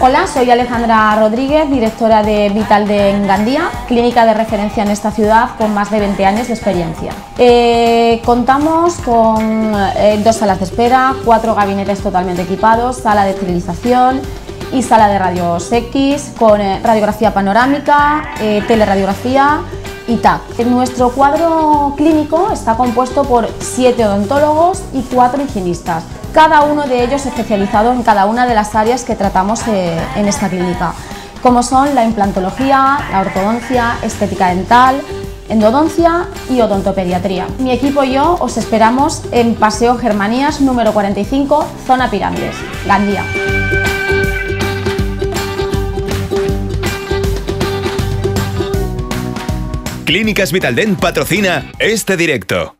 Hola, soy Alejandra Rodríguez, directora de Vital en Gandía, clínica de referencia en esta ciudad con más de 20 años de experiencia. Contamos con 2 salas de espera, 4 gabinetes totalmente equipados, sala de esterilización y sala de rayos X con radiografía panorámica, teleradiografía y TAC. Nuestro cuadro clínico está compuesto por 7 odontólogos y 4 higienistas, cada uno de ellos especializado en cada una de las áreas que tratamos en esta clínica, como son la implantología, la ortodoncia, estética dental, endodoncia y odontopediatría. Mi equipo y yo os esperamos en Paseo Germanías número 45, zona Pirámides, Gandía. Clínicas Vitaldent patrocina este directo.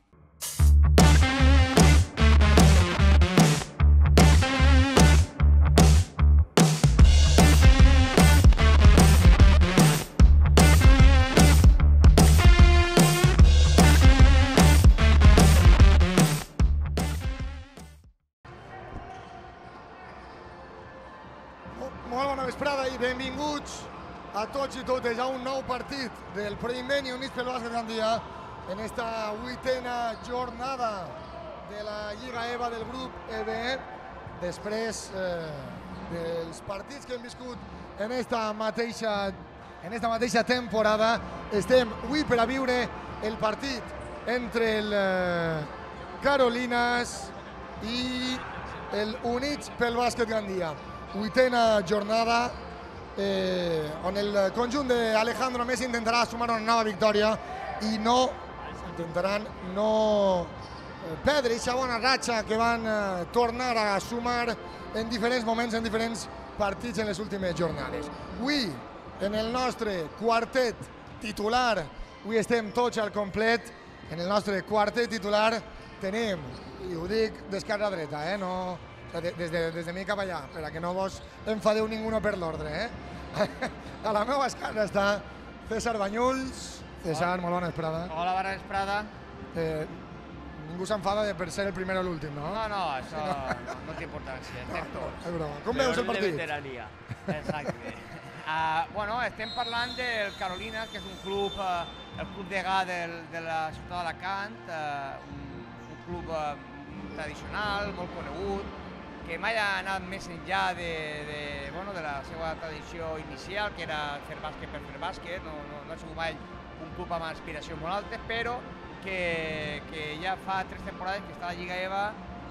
Molt bona vesprada i benvinguts a tots i totes a un nou partit del Proinvent i Units pel Bàsquet Gandia en esta 8a jornada de la Lliga EVA del grup EB, després dels partits que hem viscut en esta mateixa temporada. Estem avui per a viure el partit entre el Carolinas i el Units pel Bàsquet Gandia. 8a jornada on el conjunt d'Alejandro Messi intentarà sumar una nova victòria i intentaran no perdre aquesta bona ratxa que van tornar a sumar en diferents moments, en diferents partits en les últimes jornades. Avui, en el nostre quartet titular, avui estem tots al complet, en el nostre quartet titular tenim, i ho dic d'esquerra a dreta, no... des de mi cap allà, per a que no vos enfadeu ningú per l'ordre. A la meva esquerra està César Banyuls. César, molt bona vesprada. Hola, bona vesprada. Ningú s'enfada per ser el primer o l'últim, no? No, això no té importància, estem tots. És broma. Com veus el partit? Exacte. Bueno, estem parlant del Carolina, que és un club, el club degà de la ciutat d'Alacant, un club tradicional, molt conegut, que mai ha anat més enllà de la seva tradició inicial, que era fer bàsquet per fer bàsquet, no ha sigut mai un club amb aspiracions molt altes, però que ja fa 3 temporades que està a la Lliga EVA,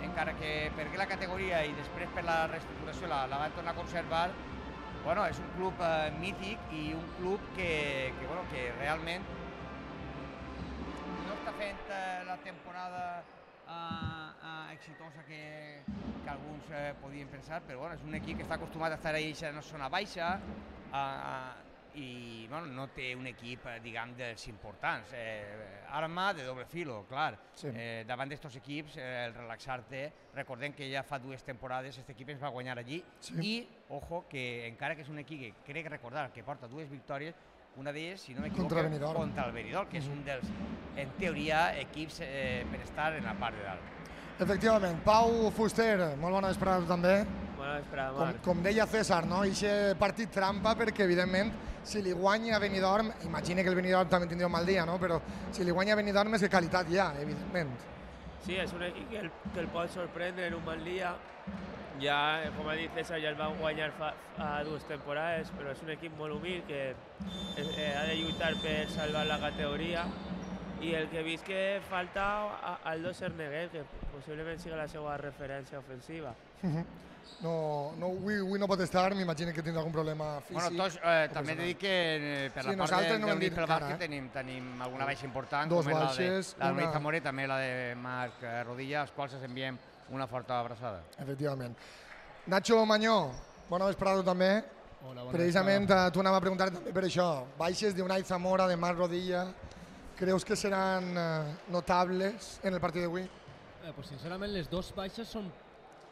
encara que perdé la categoria i després per la reestructuració la van tornar a conservar. És un club mític i un club que realment no està fent la temporada exitosa que alguns podien pensar, però és un equip que està acostumat a estar a una zona baixa i no té un equip, diguem, dels importants. Arma de doble filo, clar. Davant d'estos equips, el relaxar-te, recordem que ja fa 2 temporades aquest equip ens va guanyar allí i, ojo, que encara que és un equip que crec recordar que porta 2 victòries, una d'elles, si no m'equivoco, contra el Benidorm, que és un dels, en teoria, equips per estar en la part de dalt. Efectivament. Pau Fuster, molt bona vesprada a tu també. Bona vesprada, Marc. Com deia César, aquest partit trampa perquè, evidentment, si li guanya a Benidorm, imagina que el Benidorm també tindria un mal dia, però si li guanya a Benidorm és que qualitat hi ha, evidentment. Sí, és un equip que el pot sorprendre en un mal dia. Ja, com ha dit César, ja el van guanyar fa 2 temporades, però és un equip molt humil que ha de lluitar per salvar la categoria. I el que he vist que falta Aldo Cerneguer, que possiblement sigui la seva referència ofensiva. Avui no pot estar, m'imagino que tindrà algun problema físic. També he de dir que per la part del Units pel Bàsquet tenim alguna baixa important, com és la de Luis Zamora i també la de Marc Rodilla, als quals els enviem una forta abraçada. Efectivament. Nacho Mañó, bona vesprada també. Precisament t'ho anava a preguntar també per això. Baixes d'Unai Zamora, de Marc Rodilla, creus que seran notables en el partit d'avui? Sincerament, les 2 baixes són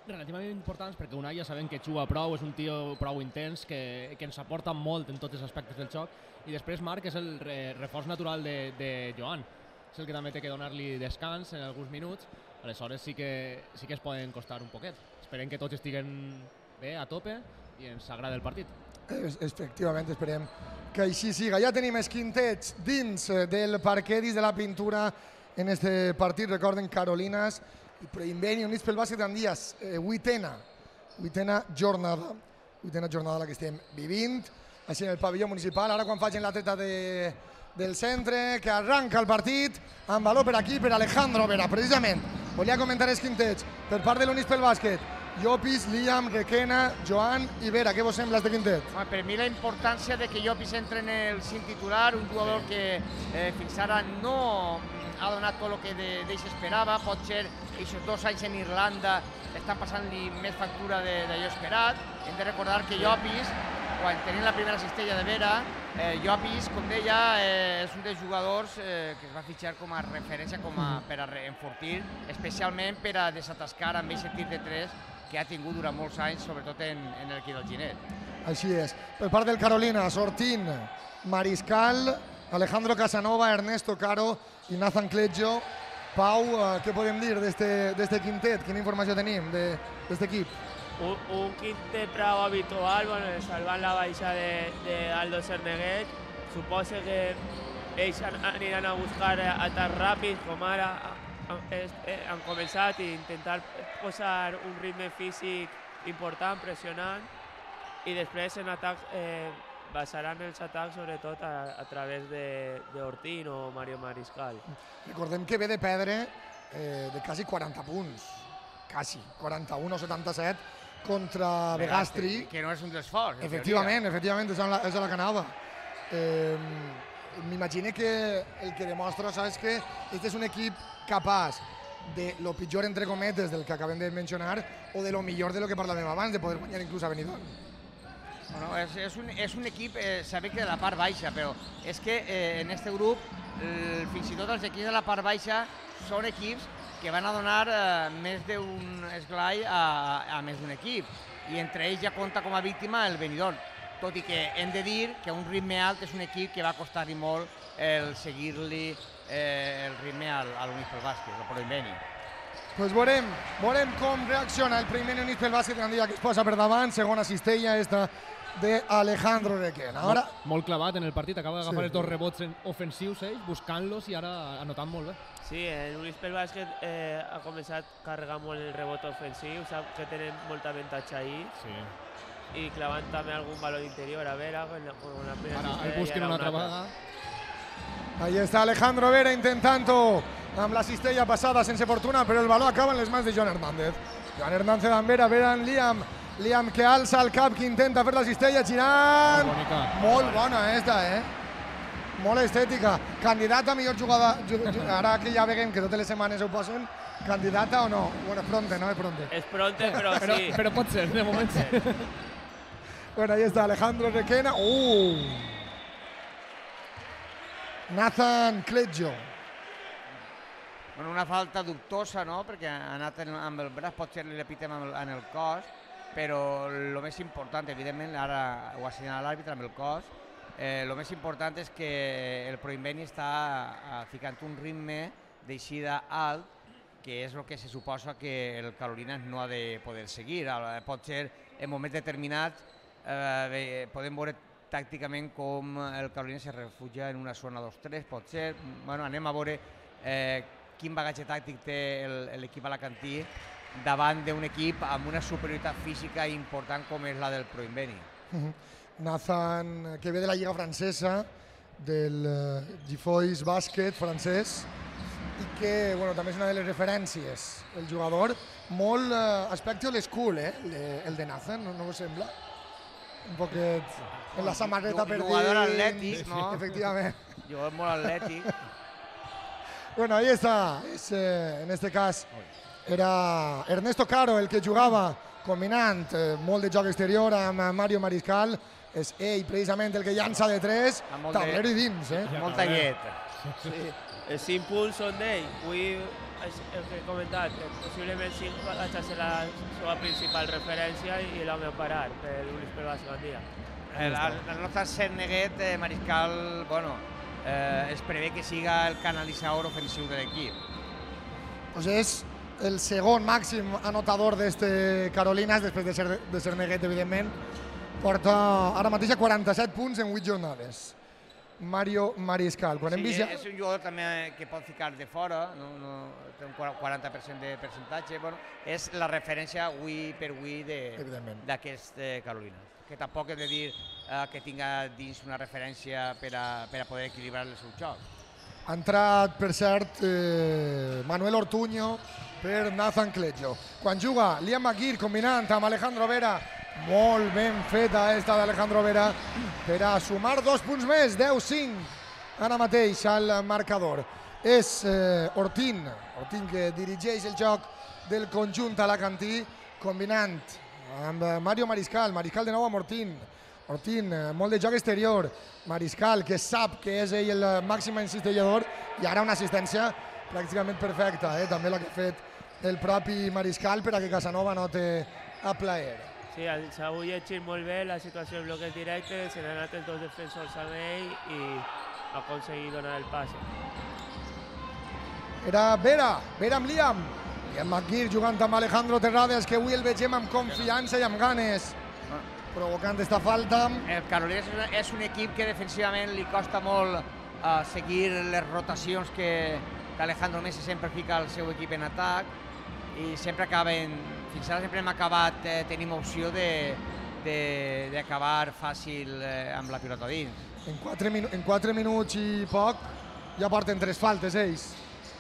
relativament importants perquè Unai ja sabem que juga prou, és un tio prou intens que ens aporta molt en tots els aspectes del joc, i després Marc és el reforç natural de Joan, és el que també té que donar-li descans en alguns minuts, aleshores sí que es poden costar un poquet. Esperem que tots estiguen bé, a tope, i ens agrada el partit. Efectivament, esperem que així siga. Ja tenim els quintets dins del parquet, dins de la pintura en este partit. Recorden, Carolinas i Proinveni units pel bàsquet Gandia, vuitena jornada la que estem vivint, així en el pavelló municipal. Ara quan facin la treta del centre, que arranca el partit, amb valor per aquí, per Alejandro Vera. Precisament, volia comentar els quintets per part de l'Units pel bàsquet. Llopis, Liam, Requena, Joan i Vera. Què vos sembla este quintet? Per mi la importància de que Llopis entre en el cinc titular, un jugador que fins ara no ha donat tot el que d'ell s'esperava. Pot ser aquests 2 anys en Irlanda estan passant-li més factura d'allò esperat. Hem de recordar que Llopis, quan tenint la primera cistella de Vera, Llopis, com deia, és un dels jugadors que es va fitxar com a referència per a enfortir, especialment per a desatascar amb aquest tir de 3 que ha tingut durant molts anys, sobretot en l'equip del Ginet. Així és. Per part del Carolina, Sortín, Mariscal, Alejandro Casanova, Ernesto Caro i Nathan Cleggio. Pau, què podem dir d'este quintet? Quina informació tenim d'este equip? Un quintet prou habitual, salvant la baixa d'Aldo Cerneguet. Suposo que ells aniran a buscar atacs ràpids, com ara han començat, i intentar posar un ritme físic important, pressionant, i després en atacs basaran els atacs sobretot a través d'Ortín o Mario Mariscal. Recordem que ve de perdre de quasi 40 punts, quasi 41 o 77 contra Begastri. Que no és un dels forts. Efectivament, és a la que anava. M'imagino que el que demostra és que este és un equip capaç de lo pitjor, entre cometes, del que acabem de mencionar, o de lo millor de lo que parlàvem abans, de poder guanyar inclús a Benidorm. Bueno, és un equip, sabem que de la part baixa, però és que en aquest grup, fins i tot els equips de la part baixa, són equips que van a donar més d'un esglai a més d'un equip, i entre ells ja compta com a víctima el Benidorm, tot i que hem de dir que un ritme alt és un equip que va costar-hi molt el seguir-li el ritme a l'Units pel bàsquet, el Proinveni. Pues veurem com reacciona el primer Units pel bàsquet Gandia, que es posa per davant, segona cistella esta d'Alejandro Requena. Molt clavat en el partit, acaba d'agafar els 2 rebots ofensius, buscant-los i ara anotant molt bé. Sí, l'Units pel bàsquet ha començat a carregar molt el rebot ofensiu, sap que tenen molta avantatge ahir, i clavant també algun valor interior a Vera, con la primera cistella. Ara el busquen una altra vegada. Ahí está Alejandro Vera intentando amb la cistella passada sense fortuna, però el valor acaba en les mans de Joan Hernández. Joan Hernández amb Vera, Vera en Liam. Liam que alça el cap, que intenta fer la cistella, girant. Molt bona esta, molt estètica. Candidata a millor jugada, ara que ja veiem que totes les setmanes ho posen, candidata o no? Bueno, és pronte, no? És pronte, però sí. Però pot ser, de moment sí. Bueno, ahí está Alejandro Requena. Nathan Cleggio. Bueno, una falta dubtosa, no?, perquè ha anat amb el braç, potser li repitem en el cos, però el més important, evidentment, ara ho ha assenyalat l'àrbitre amb el cos, el més important és que el Proinveni està ficant un ritme d'eixida alt, que és el que se suposa que el Carolinas no ha de poder seguir. Pot ser, en moments determinats, podem veure tàcticament com el Carolinas se refugia en una zona 2-3, pot ser. Bueno, anem a veure quin bagatge tàctic té l'equip alacantí davant d'un equip amb una superioritat física important com és la del Proinveni. Nathan, que ve de la Lliga Francesa, del Gifois Bàsquet francès, i que també és una de les referències. El jugador, molt aspecte old school, el de Nathan, no us sembla? Un poquet en la samarreta per dins. Jugador atlètic, no? Efectivament. Jugador molt atlètic. Bueno, ahí está. En este cas era Ernesto Caro el que jugava combinant molt de joc exterior amb Mario Mariscal. És ell precisament el que llança de 3, tablero i dins. Molta llet. Els 5 punts són d'ell. Avui, el que he comentat, possiblement 5 va ser la seva principal referència i l'home a parar per l'Units pel bàsquet Gandia. El nostre Cerneguet, Mariscal, es prevé que siga el canalitzador ofensiu de l'equip. Doncs és el segon màxim anotador d'este Carolinas, després de ser neguet, evidentment. Porta ara mateix 47 punts en 8 jornades. Mario Mariscal. Sí, és un jugador també que pot ficar de fora, té un 40% de percentatge. Bueno, és la referència avui per avui d'aquest Carolina. Que tampoc hem de dir que tinga dins una referència per a poder equilibrar el seu joc. Ha entrat, per cert, Manuel Ortuño per Nathan Cleggio. Quan juga Liam McGeer combinant amb Alejandro Vera, molt ben feta esta d'Alejandro Vera per a sumar 2 punts més, 10-5 ara mateix al marcador. És Ortín que dirigeix el joc del conjunt alacantí, combinant amb Mario Mariscal de nou amb Ortín, molt de joc exterior, Mariscal que sap que és ell el màxim encistellador i ara una assistència pràcticament perfecta, també la que ha fet el propi Mariscal per a que Casanova noti a plaer. Sí, s'ha llegit molt bé la situació de bloques directes, se n'han anat els dos defensors amb ell i ha aconseguit donar el passe. Era Vera amb Liam McGeer jugant amb Alejandro Terrades, que avui el vegem amb confiança i amb ganes, provocant esta falta. El Carolina és un equip que defensivament li costa molt seguir les rotacions que Alejandro Messi sempre fica al seu equip en atac i sempre acaben, fins ara sempre hem acabat, tenim opció d'acabar fàcil amb la pilota dins. En 4 minuts i poc ja porten 3 faltes ells.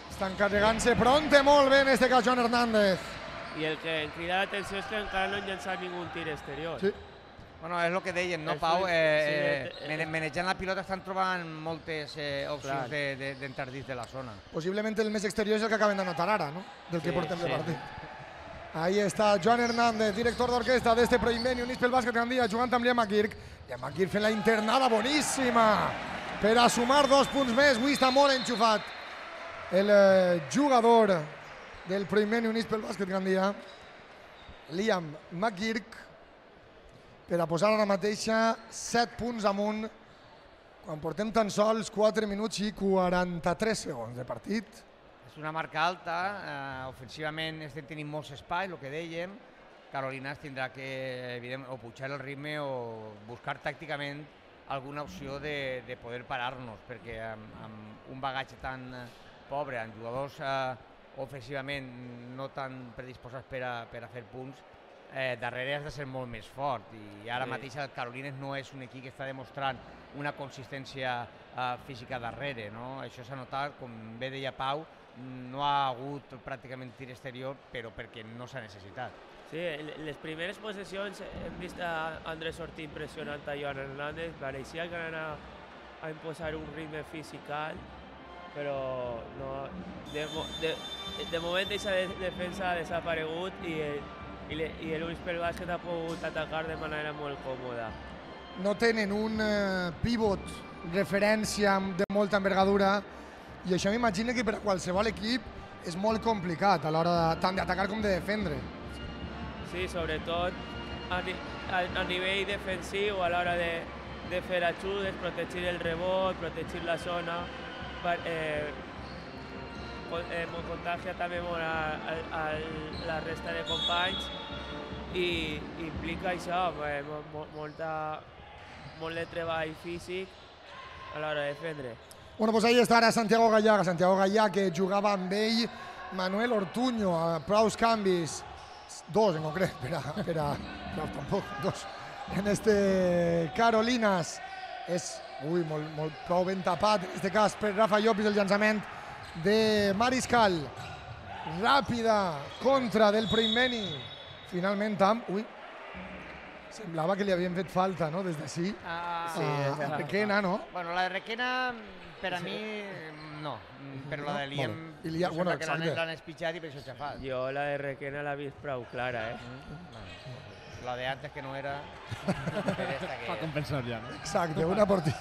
Estan carregant-se pronte molt bé en este cas Joan Hernández. I el que em crida l'atenció és que encara no han llançat ningú tir exterior. Sí. Bueno, és el que dèiem, no, Pau? Manejant la pilota estan trobant moltes opcions d'entrar dins de la zona. Possiblement el més exterior és el que acaben d'anotar ara, no? Del que portem de partit. Ahí està Joan Hernández, director d'orquestra d'este Proinveni Units pel Bàsquet Gandia, jugant amb Liam McGeer. Liam McGeer fent la internada boníssima per a sumar 2 punts més. Avui està molt enxufat el jugador del Proinveni Units pel Bàsquet Gandia, Liam McGeer, per a posar ara mateixa 7 punts amunt quan portem tan sols 4 minuts i 43 segons de partit. És una marca alta, ofensivament estem tenint molts espais, el que dèiem. Carolina tindrà que o pujar el ritme o buscar tàcticament alguna opció de poder parar-nos, perquè amb un bagatge tan pobre, amb jugadors ofensivament no tan predisposats per a fer punts, darrere has de ser molt més fort i ara mateix el Carolines no és un equip que està demostrant una consistència física darrere, no? Això s'ha notat, com bé deia Pau, no ha hagut pràcticament tir exterior, però perquè no s'ha necessitat. Sí, les primeres possessions hem vist a Andrés Ortín pressionant a Joan Hernández, pareixia que anaven a imposar un ritme físic alt, però de moment aquesta defensa ha desaparegut i l'Units pel Bàsquet ha pogut atacar de manera molt còmoda. No tenen un pivot referència de molta envergadura i això m'imagino que per a qualsevol equip és molt complicat a l'hora tant d'atacar com de defendre. Sí, sobretot a nivell defensiu, a l'hora de fer ajudes, protegir el rebot, protegir la zona, contagia també molt a la resta de companys i implica això, molt de treball físic a l'hora de defendre. Bueno, doncs ahí està ara Santiago Gallà que jugava amb ell, Manuel Ortuño, a prous canvis, 2 en concret, dos, en este Carolinas, és prou ben tapat, en este cas per Rafa Llopis, el llançament de Mariscal, ràpida contra del Proinveni, finalment semblava que li havien fet falta, no?, des d'ací, a Requena, no? Bueno, la de Requena, per a mi, no, però la de Liam, bueno, que l'han espitjat i per això xafat. Jo la de Requena l'he vist prou clara, La de antes que no era... Para compensar ya, ¿no? Exacte, una por ti.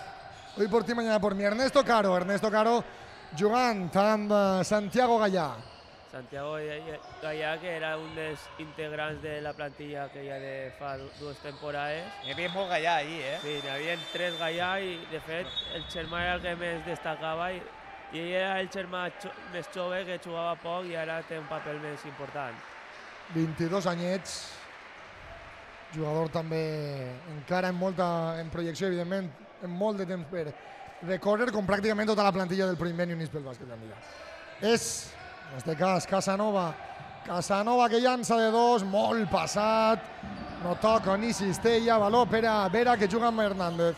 Hoy por ti, mañana por mí. Ernesto Caro jugant amb Santiago Gallà. Santiago Gallà, que era un dels integrants de la plantilla que ja de fa 2 temporades. Hi havia molt Gallà ahir, Sí, n'hi havia 3 Gallà i, de fet, el Xermà era el que més destacava i I era el germà més jove que jugava poc i ara té un paper més important. 22 anyets, jugador també encara en projecció, evidentment, en molt de temps per recórrer, com pràcticament tota la plantilla del Proinvent i Units pel Bàsquet Gandia. És, en aquest cas, Casanova que llança de dos, molt passat, no toca ni cistella, valor per a Vera que juga amb Hernández.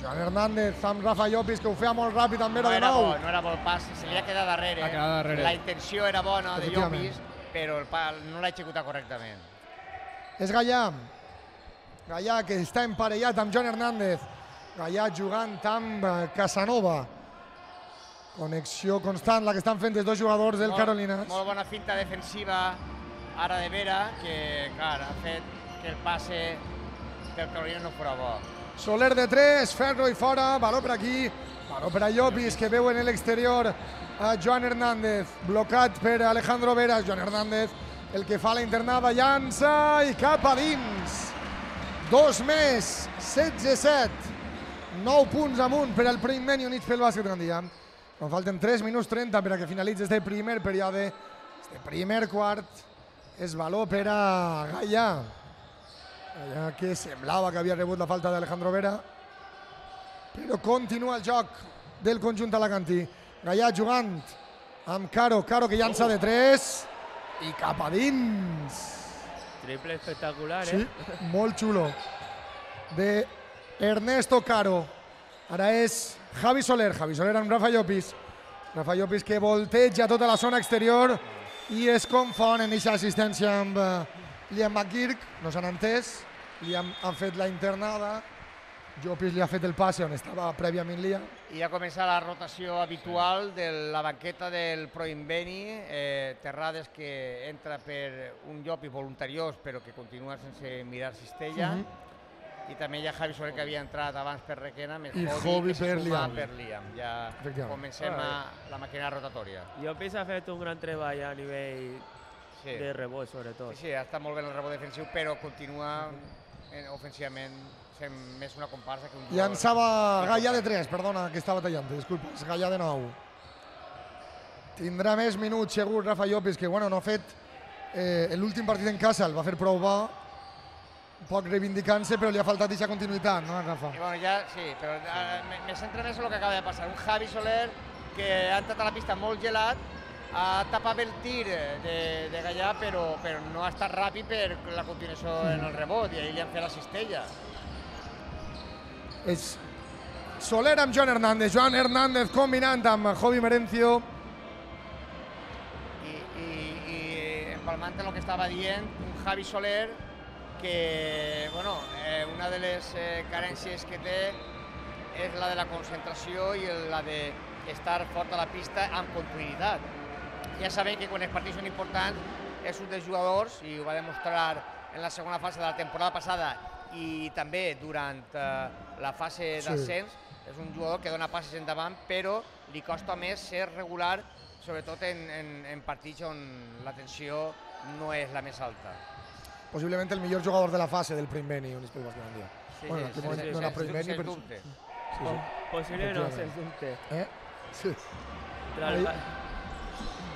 Joan Hernández amb Rafa Llopis que ho feia molt ràpid amb Vera de nou. No era bo el pas, se li ha quedat darrere. La intenció era bona de Llopis, però el pas no l'ha executat correctament. És Gallà. Gallà que està emparellat amb Joan Hernández. Gallà jugant amb Casanova. Connexió constant la que estan fent els dos jugadors del Carolinas. Molt bona finta defensiva ara de Vera, que clar, ha fet que el passe del Carolinas no fora bo. Soler de 3, Ferro i fora, valor per aquí, valor per a Llopis que veu en l'exterior a Joan Hernández, blocat per Alejandro Vera. Joan Hernández, el que fa la internada, llança i cap a dins. 2 més, 16-7, 9 punts amunt per al Proinvent i Units pel Bàsquet Gandia. Ens falten 3 minuts 30 per a que finalitzi este primer període, este primer quart. És valor per a Gallà. Gallà que semblava que havia rebut la falta d'Alejandro Vera, però continua el joc del conjunt alacantí. Gallà jugant amb Caro que llança de 3 i cap a dins. Triple espectacular, Sí, molt xulo. De Ernesto Caro. Ara és Javi Soler amb Rafa Llopis. Rafa Llopis que volteja tota la zona exterior i es confon en aquesta assistència amb Liam McGurk. No s'han entès. Liam ha fet la internada. Llopis li ha fet el passe on estava prèviament Liam. I ha començat la rotació habitual de la banqueta del Proinveni. Terrades que entra per un Llopis voluntariós però que continua sense mirar cistella. I també hi ha Javi Soler que havia entrat abans per Requena, més Jovi que se suma per Liam. Ja comencem la màquina rotatòria. Llopis ha fet un gran treball a nivell de rebot, sobretot. Sí, ha estat molt bé el rebot defensiu, però continua ofensivament sent més una comparsa que un jugador. Llançava Gallà de 3, perdona, que estava tallant, disculpa, és Gallà de 9. Tindrà més minuts segur Rafa Llopis, que bueno, no ha fet l'últim partit en casa, el va fer prou bo, un poc reivindicant-se, però li ha faltat aquesta continuïtat, no, Rafa? I bueno, ja, sí, però me centra més en el que acaba de passar. Un Javi Soler que ha entrat a la pista molt gelat, ha tapat el tir de Gallà, però no ha estat ràpid per la continuació en el rebot, i ahir li han fet la cistella. És Soler amb Joan Hernández combinant amb Jovi Merencio. I empalmant en el que estava dient, un Javi Soler que, bueno, una de les carències que té és la de la concentració i la d'estar fort a la pista amb continuïtat. Ja sabem que quan els partits són importants és un dels jugadors, i ho va demostrar en la segona fase de la temporada passada i també durant la fase d'ascens, és un jugador que dona passes endavant, però li costa més ser regular, sobretot en partits on la tensió no és la més alta. Possiblement el millor jugador de la fase del Proinvent i Units pel Bàsquet Gandia. Bueno, en aquest moment no era Proinvent, sens dubte. Possible no, sens dubte. Sí.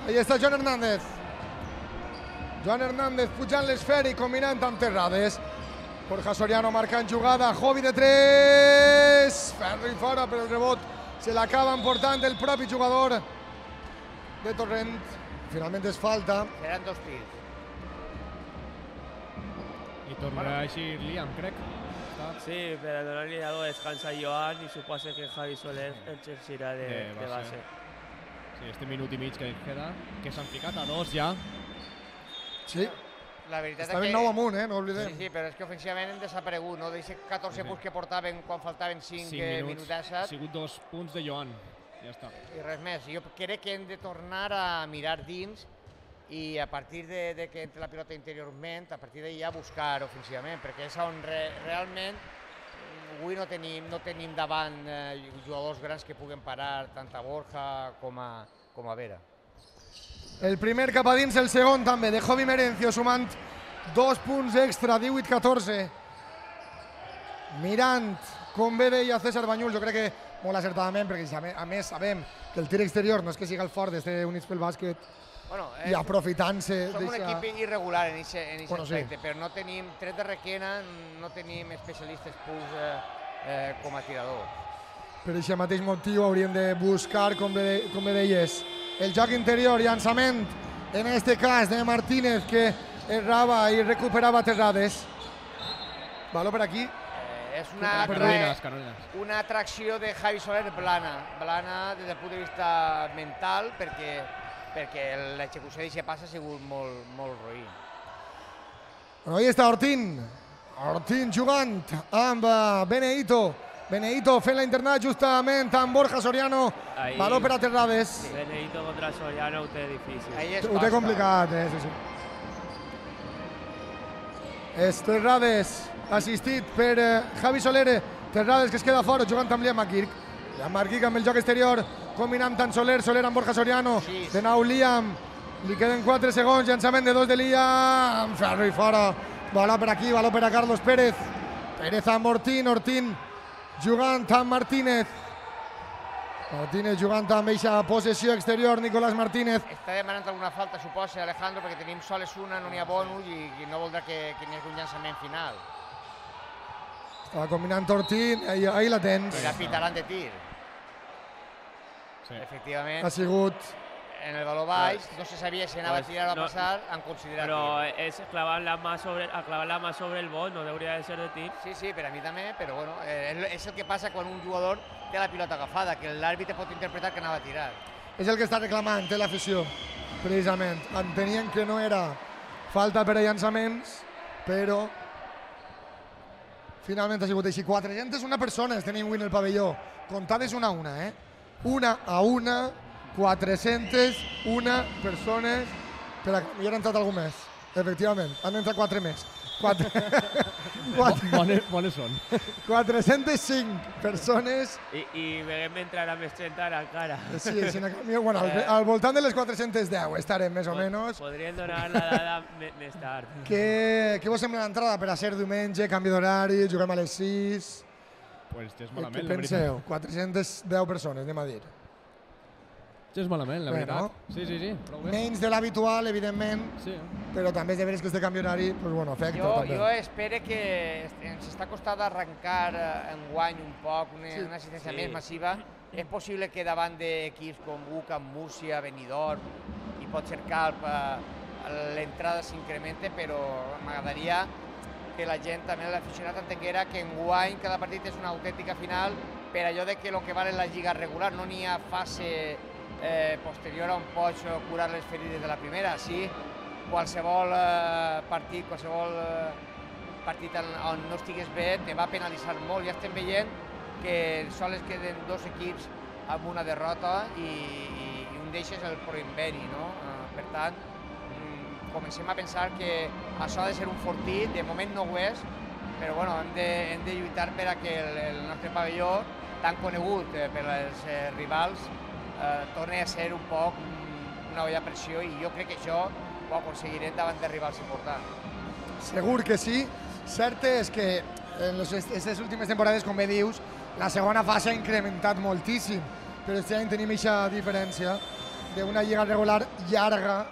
Ahí està Joan Hernández. Joan Hernández pujant l'esfera i combinant amb Terrades. Borja Soriano marcant jugada, Jovi de 3. Ferro i fora, però el rebot se l'acaba emportant el propi jugador de Torrent. Finalment és falta. Seran 2 tirs. I tornarà així Liam, crec. Sí, per a donar-li algo de descans a Joan i suposa que Javi Soler exercirà de base. Sí, este minut i mig que queda, que s'han ficat a 2 ja. Sí. La veritat està ben 9 amunt, no oblidem. Sí, però és que ofensivament hem desaparegut, no? D'aquests 14 punts que portaven quan faltaven 5 minuts. Ha sigut 2 punts de Joan, ja està. I res més. Jo crec que hem de tornar a mirar dins i a partir de que entre la pilota interiorment, a partir d'ahir ja buscar ofensivament, perquè és on realment avui no tenim davant jugadors grans que puguen parar tant a Borja com a Vera. El primer cap a dins, el segon també, de Jovi Merencio, sumant 2 punts extra, 18-14. Mirant, com bé deia César Banyuls, jo crec que molt acertadament, perquè a més sabem que el tir exterior no és que sigui el fort d'este Units pel Bàsquet, i aprofitant-se... Som un equip irregular en aquest aspecte, sí. però no tenim, tret de Requena, no tenim especialistes purs com a tiradors. Per aquest mateix motiu hauríem de buscar, com bé deies, el joc interior, llançament, en este cas de Martínez, que errava i recuperava terrades. Valor per aquí. És una atracció de Javi Soler blana des del punt de vista mental, perquè l'execució d'aquest pas ha sigut molt roí. Ahí està Ortín jugant amb Benedito fent la internada justament amb Borja Soriano, valor per a terrades. Benedito contra Soriano ho té difícil. Ho té complicat, sí. És terrades assistit per Javi Soler, terrades que es queda fora jugant amb Liam McGurk. Liam McGurk amb el joc exterior, combinant tant Soler amb Borja Soriano, de nou Liam, li queden 4 segons, llançament de 2 de Liam, ferro i fora, valor per aquí, valor per a Carlos Pérez amb Ortín jugant amb Martínez jugant amb eixa possessió exterior, Nicolás Martínez. Està demanant alguna falta, suposa, Alejandro, perquè tenim soles una, no n'hi ha bonus i no voldrà que n'hi hagi un llançament final. Estava combinant Ortín, ahí la tens. I la pitaran de tir. Efectivament. Ha sigut... En el valor baix, no se sabia si anava a tirar o a passar, han considerat tir. Però és clavar la mà sobre el bot, no hauria de ser de tir. Sí, per a mi també, però bueno, és el que passa quan un jugador té la pilota agafada, que l'àrbitre pot interpretar que anava a tirar. És el que està reclamant, té l'afició, precisament. Entenien que no era falta per a llançaments, però finalment ha sigut així. 401 persones tenim avui en el pavelló, comptades una a una, una a una, 401 persones. Espera, hi ha entrat algú més. Efectivament, han entrat 4 més. Bones són. 405 persones. I veiem entrar més 30 ara encara. Sí, bueno, al voltant de les 410 estarem més o menys. Podrien donar la dada més tard. Què vos sembla l'entrada per a ser diumenge, canvi d'horari, juguem a les 6? Pues és malament, què penseu? 410 persones, anem a dir. És malament, la veritat. Sí. Menys de l'habitual, evidentment, però també és de veres que este canvi horari, afecta també. Jo espero que ens està costant arrencar enguany un poc, una assistència més massiva. És possible que davant d'equips com UCAM, Múrcia, Benidorm i potser Calp l'entrada s'incrementa, però m'agradaria que la gent, també l'aficionat, entenguera que enguany cada partit és una autèntica final per allò de que el que val és la lliga regular, no n'hi ha fase posterior on pots curar les ferides de la primera. Sí, qualsevol partit on no estigues bé te va penalitzar molt. Ja estem veient que sols queden 2 equips amb una derrota i un d'ells és el Proinveni, no? Per tant, comencem a pensar que això ha de ser un fortit, de moment no ho és, però hem de lluitar per a que el nostre pavelló, tan conegut per als rivals, torna a ser un poc una olla a pressió, i jo crec que això ho aconseguirem davant de rivals importants. Segur que sí. Cert és que en aquestes últimes temporades, com bé dius, la segona fase ha incrementat moltíssim, però aquest any tenim aquesta diferència d'una lliga regular llarga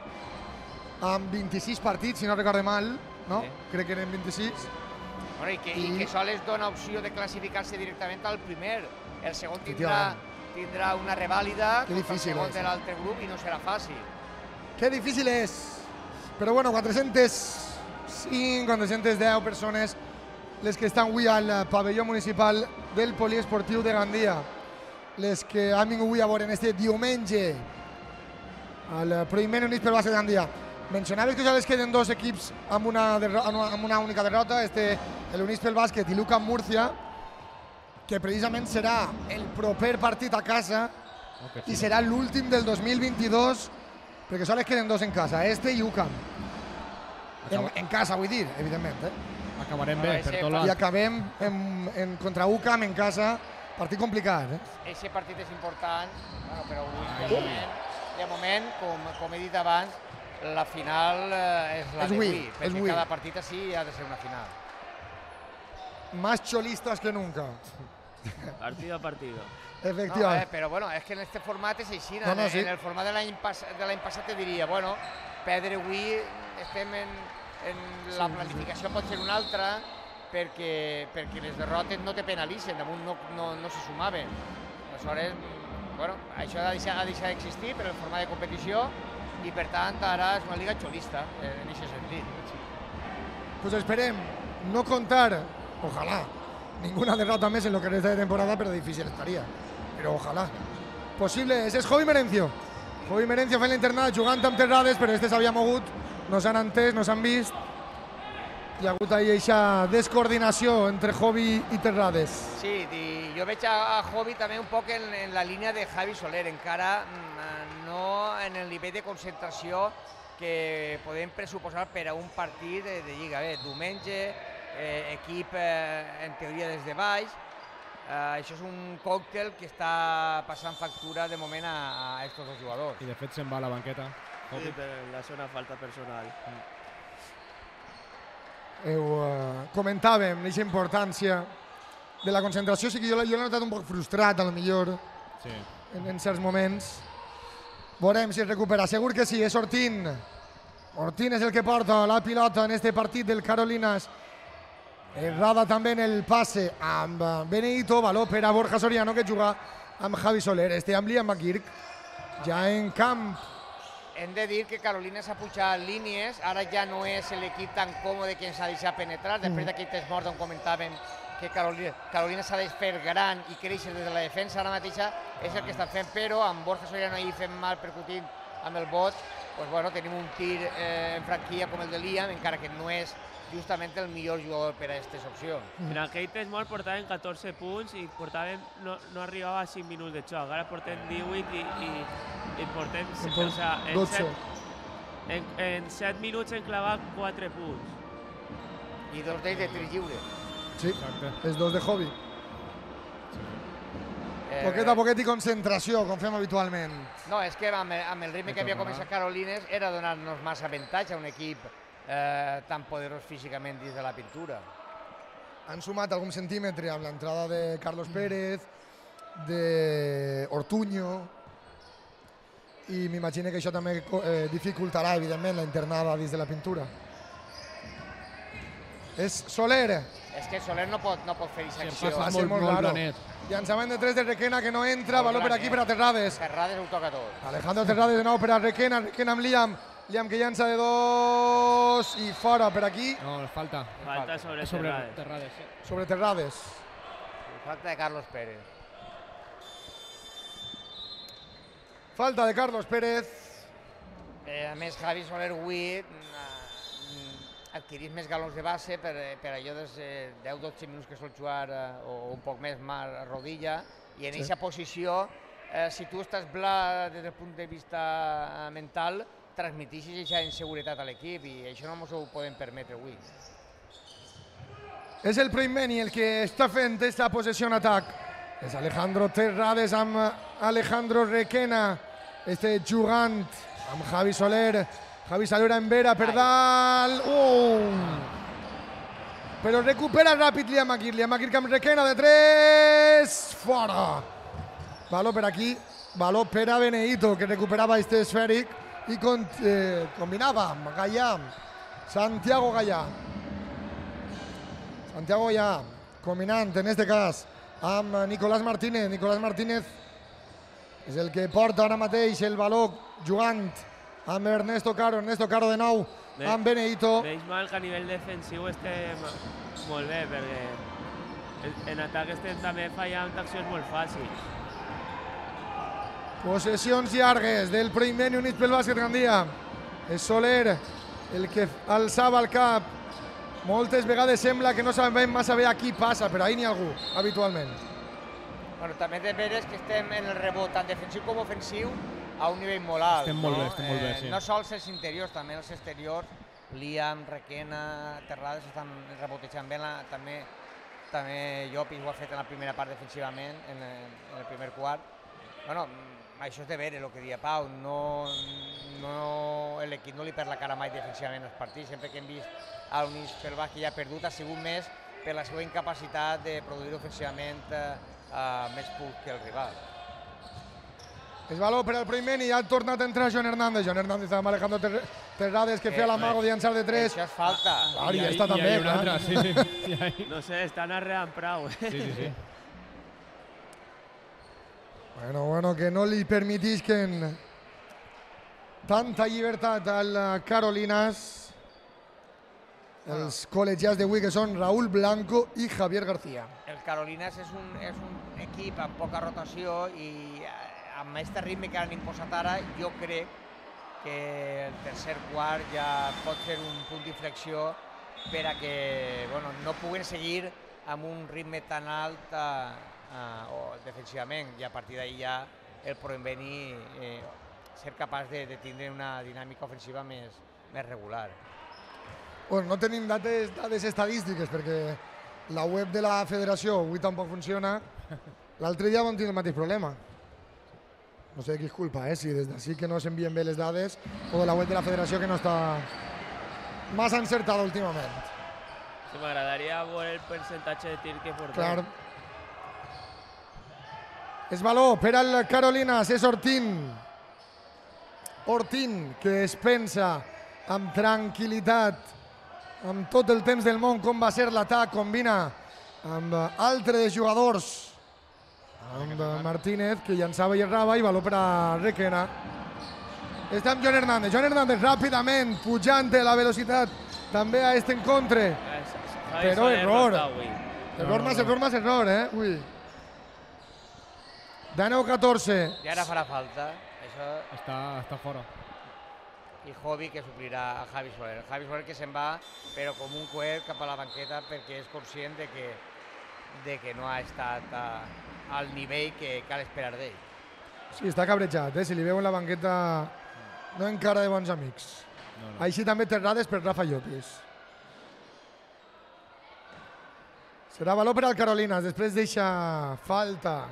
amb 26 partits, si no recorde mal, no? Crec que eren 26. I que sols dona opció de classificar-se directament al primer. El segon tindrà una revàlida contra el segon de l'altre grup i no serà fàcil. Que difícil és. Però 405, 410 persones les que estan avui al pavelló municipal del Poliesportiu de Gandia. Les que han vingut avui a veure este diumenge al Proinveni Units pel Bàsquet de Gandia. Mencionaves que ja les queden 2 equips amb una única derrota, l'Units pel Bàsquet i l'UCAM Múrcia, que precisament serà el proper partit a casa i serà l'últim del 2022, perquè sols queden 2 en casa, i UCAM. En casa, vull dir, evidentment. Acabarem bé, per tot l'alt. I acabem contra UCAM en casa, partit complicat. Aquest partit és important, però de moment, com he dit abans, la final és la d'avui, perquè cada partit així ha de ser una final. Más cholistas que nunca. Partido a partido. Efectivament. No, però bueno, és que en aquest format és així. No, sí. En el format de l'any passat te diria, bueno, perdre avui estem en la planificació pot ser una altra perquè les derrotes no te penalitzen, damunt no se sumaven. Aleshores, bueno, això ha deixat d'existir per el format de competició i per tant ara és una liga xolista en aquest sentit. Pues esperem no contar, ojalá, ninguna derrota més en lo que resta de temporada, però difícil estaria. Però ojalà. Possible, ese és Jovi Merencio. Jovi Merencio fent l'internat, jugant amb Terrades, però este s'havia mogut, no s'han entès, no s'han vist. Hi ha hagut ahí aquesta descoordinació entre Jovi i Terrades. Sí, i jo veig a Jovi també un poc en la línia de Javi Soler, encara no en el nivell de concentració que podem pressuposar per a un partit de Lliga. Bé, diumenge, equip en teoria des de baix, això és un còctel que està passant factura de moment a estos dos jugadors. I de fet se'n va a la banqueta. Sí, per la zona falta personal. Comentàvem aquesta importància de la concentració, sí que jo l'he notat un poc frustrat, a lo millor, en certs moments. Veurem si es recupera, segur que sí, és Ortín. Ortín és el que porta la pilota en este partit del Carolinas. Errada també en el passe amb Benedito, valor per a Borja Soriano, que juga amb Javi Soler. Este amb Liam McGurk, ja en camp. Hem de dir que Carolina s'ha pujat línies, ara ja no és l'equip tan còmode que ens ha deixat penetrar, després d'aquell test mort on comentàvem que Carolina s'ha de fer gran i créixer des de la defensa, ara mateixa és el que estan fent, però amb Borja Soriano ahir fent mal percutint amb el bot, doncs bueno, tenim un tir en franquia com el de Liam, encara que no és justament el millor jugador per a aquestes opcions. En aquell test mort portaven 14 punts i no arribava a 5 minuts de xoc. Ara portem 18 i portem... O sigui, en 7 minuts hem clavat 4 punts. I dos d'ells de tir lliure. Sí, els dos de Jovi. Poquet a poquet i concentració, com fem habitualment. No, és que amb el ritme que havia començat Carolines era donar-nos massa avantatge a un equip tan poderós físicament dins de la pintura. Han sumat algun centímetre amb l'entrada de Carlos Pérez, d'Ortuño, i m'imagino que això també dificultarà, evidentment, la internada dins de la pintura. És Soler. És que Soler no pot fer aquesta acció. Va ser molt raro. Llançament de 3 de Requena que no entra, valor per aquí per a Terrades. Terrades ho toca tot. Alejandro Terrades de nou per a Requena, Requena amb Liam. Liam que llança de 2 i fora per aquí. No, falta. Falta sobre Terrades. Sobre Terrades. Falta de Carlos Pérez. Falta de Carlos Pérez. A més, Javi Soler avui adquirís més galons de base per allò dels 10-12 minuts que sol jugar o un poc més a rodilla, i en aquesta posició, si tu estàs bla des del punt de vista mental, transmiteixis aquesta inseguretat a l'equip i això no ens ho podem permetre avui. És el Primeni el que està fent aquesta possessió en atac. És Alejandro Terrades amb Alejandro Requena, jugant amb Javi Soler. Javi Soler en vera per dalt. Però recupera ràpid Liam McGurk. Liam McGurk amb Requena de 3. Fora. Valor per aquí. Valor per a Benedito, que recuperava este esfèric i combinava amb Gallà. Santiago Gallà. Santiago Gallà, combinant en este cas amb Nicolás Martínez. Nicolás Martínez és el que porta ara mateix el valor jugant amb Ernesto Caro de nou, amb Benedito. Veig mal que a nivell defensiu estem molt bé, perquè en atac estem també fallant accions molt fàcils. Possessions llargues del Primeni Units pel Bàsquet Gandia. És Soler el que alçava el cap. Moltes vegades sembla que no sabem massa bé a qui passa, però ahir n'hi ha algú, habitualment. Bueno, també de veres que estem en el rebot, tant defensiu com ofensiu, a un nivell molt alt. Estem molt bé, sí. No sols els interiors, també els exteriors. Liam, Requena, Terrades estan rebotejant bé. També Llopis ho ha fet en la primera part defensivament, en el primer quart. Bueno, això és de veure el que deia Pau. L'equip no li perd la cara mai defensivament als partits. Sempre que hem vist a l'Units pel Bàsquet ja ha perdut, ha sigut més per la seva incapacitat de produir ofensivament més punts que el rival. És valor per al primer i ha tornat a entrar Joan Hernández. Joan Hernández estava manejando Terrades, que feia l'amago de llançar de 3. Això és falta. Clar, i està també, clar. Sí. No sé, estan arreant prou. Sí. Bueno, que no li permetisquen tanta llibertat al Carolinas. Els col·legiats d'avui, que són Raúl Blanco i Javier García. El Carolinas és un equip amb poca rotació i amb aquest ritme que han imposat ara, jo crec que el tercer quart ja pot ser un punt d'inflexió per a que no puguen seguir amb un ritme tan alt defensivament, i a partir d'ahir ja el podem venir ser capaç de tindre una dinàmica ofensiva més regular. Bueno, no tenim dades estadístiques perquè la web de la federació avui tampoc funciona. L'altre dia vam tenir el mateix problema. No sé de qui és culpa, si des d'ací que no s'envien bé les dades o de la web de la federació que no està massa encertada últimament. Sí, m'agradaria veure el percentatge de tir que portem. Clar. És valor per al Carolinas, és Ortín. Ortín, que es pensa amb tranquil·litat, amb tot el temps del món, com va ser l'atac, combina amb altres jugadors, amb Martínez, que llançava i errava, i valor per a Requena. Està amb Joan Hernández. Joan Hernández ràpidament, pujant la velocitat també a este encontre. Però error. Error més error, Ui. De 9-14. I ara farà falta. Això... Està fora. I Jovi, que suplirà a Javi Soler. Javi Soler que se'n va, però com un coet cap a la banqueta, perquè és conscient de que no ha estat al nivell que cal esperar d'ell. Sí, està cabrejat, si li veuen la banqueta no encara de bons amics. No. Així també Terrades per Rafa Llopis. Serà valor per al Carolinas, després deixa falta,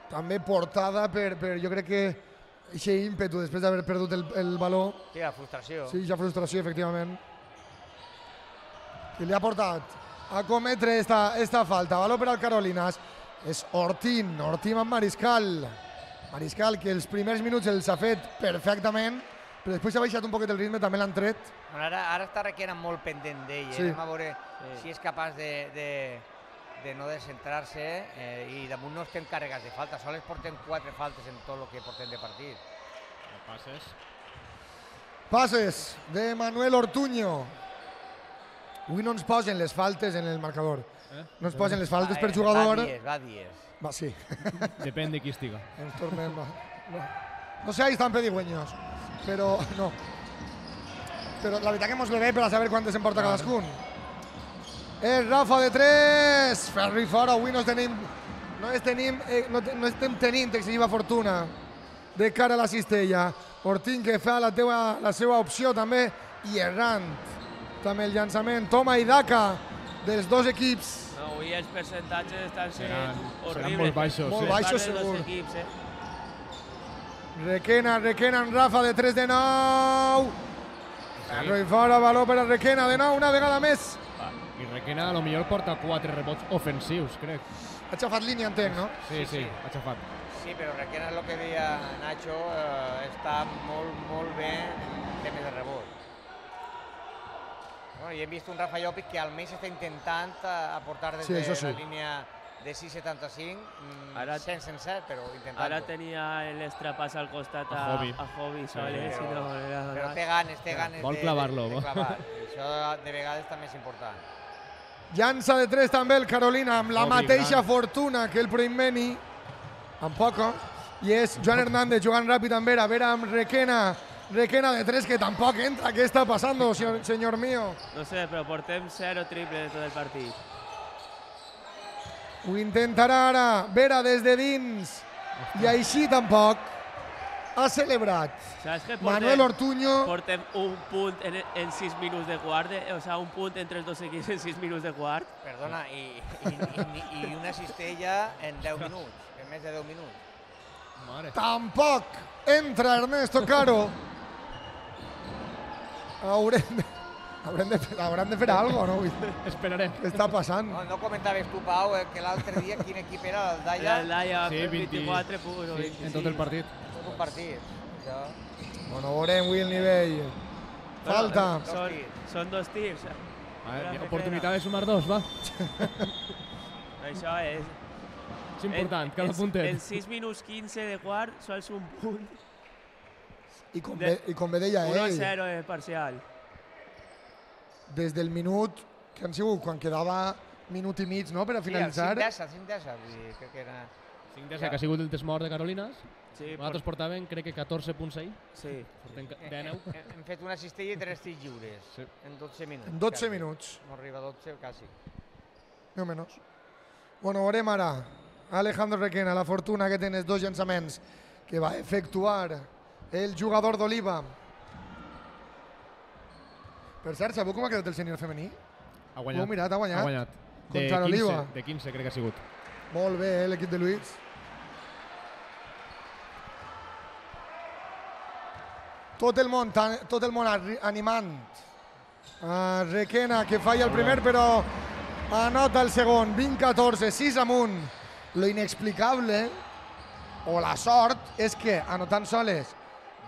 també portada per jo crec que aquest ímpetu després d'haver perdut el valor. Sí, la frustració. Sí, ja frustració, efectivament. I li ha portat a cometre esta falta. Valor per al Carolinas. És Ortín amb Mariscal. Mariscal, que els primers minuts els ha fet perfectament, però després s'ha baixat un poquet el ritme, també l'han tret. Ara està Requena molt pendent d'ell. Sí. Anem a veure si és capaç de no descentrar-se i damunt no estem carregats de falta. Sols portem 4 faltes en tot el que portem de partit. Passes de Manuel Ortuño. Avui no ens posen les faltes en el marcador. No ens posen les faltes per jugador. Va dies. Va, sí. Depèn de qui estiga. Ens tornem... No seáis tan pedigüeños, però no. Però la veritat que mos ve bé per a saber quantes en porta cadascun. Rafa de 3, Ferri fora, avui no estem tenint excessiva fortuna de cara a la cistella. Ortín que fa la seva opció també i errant també el llançament. Toma i Daka dels dos equips. No, avui els percentatges estan sent horribles. Seran molt baixos. Molt baixos, segur. Equips, Requena en Rafa de 3 de 9. Ferri fora, valor per a Requena de 9, una vegada més. I Requena a lo millor porta 4 rebots ofensius, crec. Ha xafat línia, entenc, no? Sí, ha xafat. Sí, però Requena és el que deia Nacho, està molt bé en temes de rebot. Bueno, i hem vist un Rafa Llopis que almenys està intentant aportar des de la línia de 6,75, sense encert, però intentant-ho. Ara tenia l'estrapàs al costat a Jovi Soler, però té ganes vol clavar-lo. de clavar. Això de vegades també és important. Llança de 3 també el Carolina, amb la mateixa fortuna que el Proimeni, amb poca, i és Joan Hernández jugant ràpid amb Vera amb Requena de 3, que tampoc entra. Què està passant, senyor mío? No sé, però portem 0 triple de tot el partit. Ho intentarà ara Vera des de dins, i així tampoc. Ha celebrat Manuel Ortuño. Portem un punt en 6 minuts de quart, o sigui, un punt entre els dos equips en 6 minuts de quart. Perdona, i una cistella en 10 minuts, en més de 10 minuts. Tampoc entra Ernesto Caro. Hauran de fer alguna cosa, no? Esperarem. Què està passant? No comentaves tu, Pau, que l'altre dia quin equip era el Daya? El Daya va Sí, fer 20, 24 punts o sí, 25. en tot el partit. Tot un partit. Això... Bueno, veurem avui el nivell. Falta. Són 2 tirs. Oportunitat de sumar 2, va. Això és... És important, cada puntet. En 6 minuts 15 de quart, sols un punt. I com bé deia ell, 1-0 de parcial. des del minut que han sigut, quan quedava minut i mig, no?, per a finalitzar. Sí, el 5-10, vull dir, crec que era... 5-10, que ha sigut el desmort de Carolinas. Sí, Nosaltres portàvem, crec que 14 punts ahir. Sí. Portem 19. Hem fet una cistella i 3 tirs lliures Sí. en 12 minuts. En 12 quasi. minuts. No arriba a 12, quasi. No menys. Bueno, veurem ara Alejandro Requena, la fortuna que té en els 2 llançaments que va efectuar el jugador d'Oliva. Per cert, sabeu com ha quedat el sènior femení? Ha Ho guanyat. heu mirat, ha guanyat? Ha guanyat. Contra l'Oliva. De 15, crec que ha sigut. Molt bé, l'equip de Luis. Tot el món animant. Requena, que falla el primer, però anota el segon. 20-14, 6 amunt. Lo inexplicable, o la sort, és que anotant soles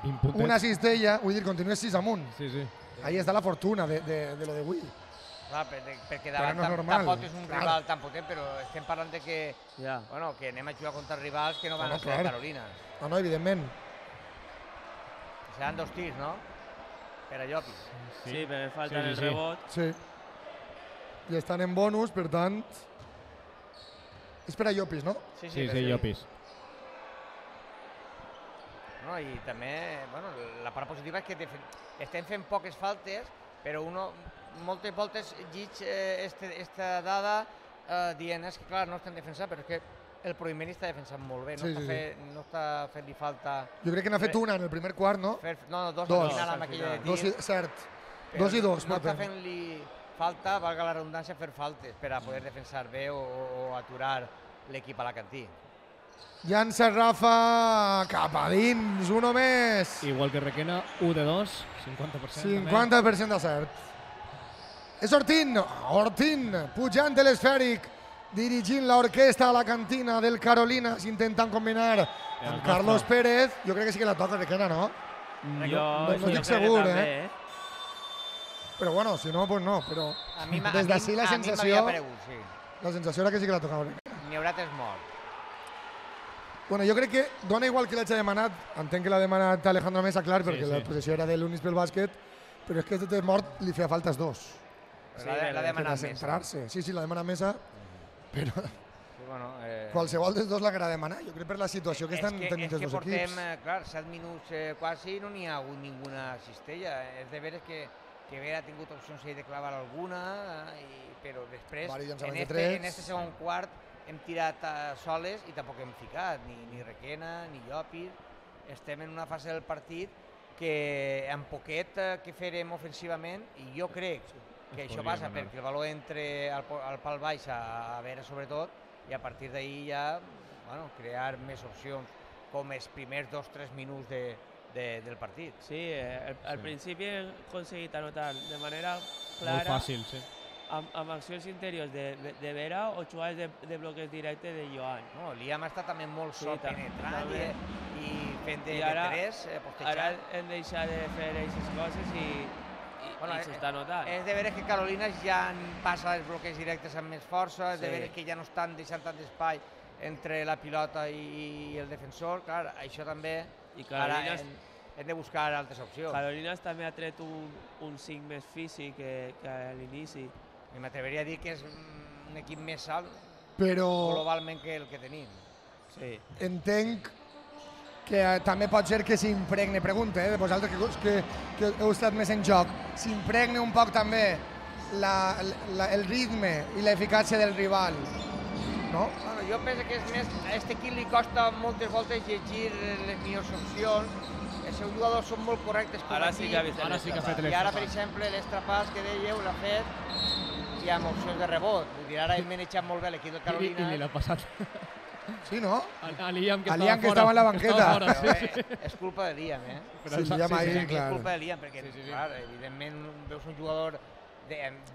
20 puntets. una cistella, vull dir, continua 6 amunt. Sí, sí. Ahí està la fortuna de lo de avui. Clar, perquè Però davant no és normal. tampoc és un Clar. rival tan potent, però estem parlant de que, Ja. bueno, que anem a jugar contra rivals que no van No, a ser clar. Carolina. No, evidentment. Seran 2 tirs, no? Per a Llopis. Sí, però falta Sí, el sí. rebot. Sí. I estan en bonus, per tant... És per a Llopis, no? Sí, per sí, ell. Llopis. No, i també, bueno, la part positiva és que estem fent poques faltes, però moltes voltes lliig esta dada dient és que clar, no estem defensant, però és que el Proimeri està defensant molt bé, no està fent-li falta... Jo crec que n'ha fet una en el primer quart, no? No, dos Dos. al final amb aquella de tir. Dos, cert. però 2 i 2. No està fent-li falta, valga la redundància, fer faltes per a poder defensar bé o aturar l'equip alacantí. Llança Rafa cap a dins, uno més. Igual que Requena, 1 de 2, 50%. 50% de cert. És Ortín, pujant de l'esfèric, dirigint l'orquestra a la cantina del Carolinas, intentant combinar amb Carlos Pérez. Jo crec que sí que la toca Requena, no? Jo estic crec segur, que també, Però bueno, si no, pues no. Però A mi des d'ací la sensació... m'havia paregut, sí. La sensació era que sí que la tocava Requena. N'hi haurà 3 morts. Bueno, jo crec que dona igual que l'hagi demanat, entenc que l'ha demanat Alejandro Mesa, clar, perquè la possessió era de l'Unis pel bàsquet, però és que este mort li feia falta els 2. Sí, l'ha demanat més. Centrar-se. Sí, l'ha demanat Mesa, però Sí, bueno, qualsevol dels dos l'haurà demanat. Jo crec per la situació que estan tenint els dos portem, equips. clar, 7 minuts quasi no n'hi ha hagut ninguna cistella. És de veres que bé ha tingut opcions de clavar alguna, però després, Vari llançaments de tres. en este segon quart, hem tirat soles i tampoc hem ficat, ni Requena, ni Llopis. Estem en una fase del partit que amb poquet que farem ofensivament, i jo crec que això passa perquè el valor entre al pal baix a veure sobretot, i a partir d'ahir ja crear més opcions com els primers 2-3 minuts del partit. Sí, al principi hem aconseguit anotar de manera clara. Molt fàcil, sí. Amb accions interiors de Vera o jugades de bloques directes de Joan. No, l'Iam està també molt Sí, penetrant també. i fent de ara, 3, Ara postejant. hem deixat de fer aquestes coses i s'està notant. És de veres que Carolinas ja passa els bloqueig directes amb més força, és de Sí. veres que ja no estan deixant tant d'espai entre la pilota i el defensor. Clar, això també I Carolinas- hem de buscar altres opcions. Carolinas també ha tret un 5 més físic que a l'inici. I m'atreveria a dir que és un equip més alt Però globalment que el que tenim. Sí. entenc que també pot ser que s'impregne, pregunta, de vosaltres que heu estat més en joc, s'impregne un poc també el ritme i l'eficàcia del rival, no? Bueno, jo penso que és més, a aquest equip li costa moltes voltes llegir les millors opcions. Els seus jugadors són molt correctes com Ara sí que ha vist Ara sí que ha fet I ara, per exemple, l'extrapàs que dèieu l'ha fet i amb opcions de rebot. Vull dir, ara hem manejat molt bé l'equip del I Carolina. li l'ha passat. Sí, no? A Liam, que A Liam, que estava en la banqueta. És culpa de Liam, eh? Sí, Liam ahí, És clar. culpa de Liam, perquè, clar, evidentment, veus un jugador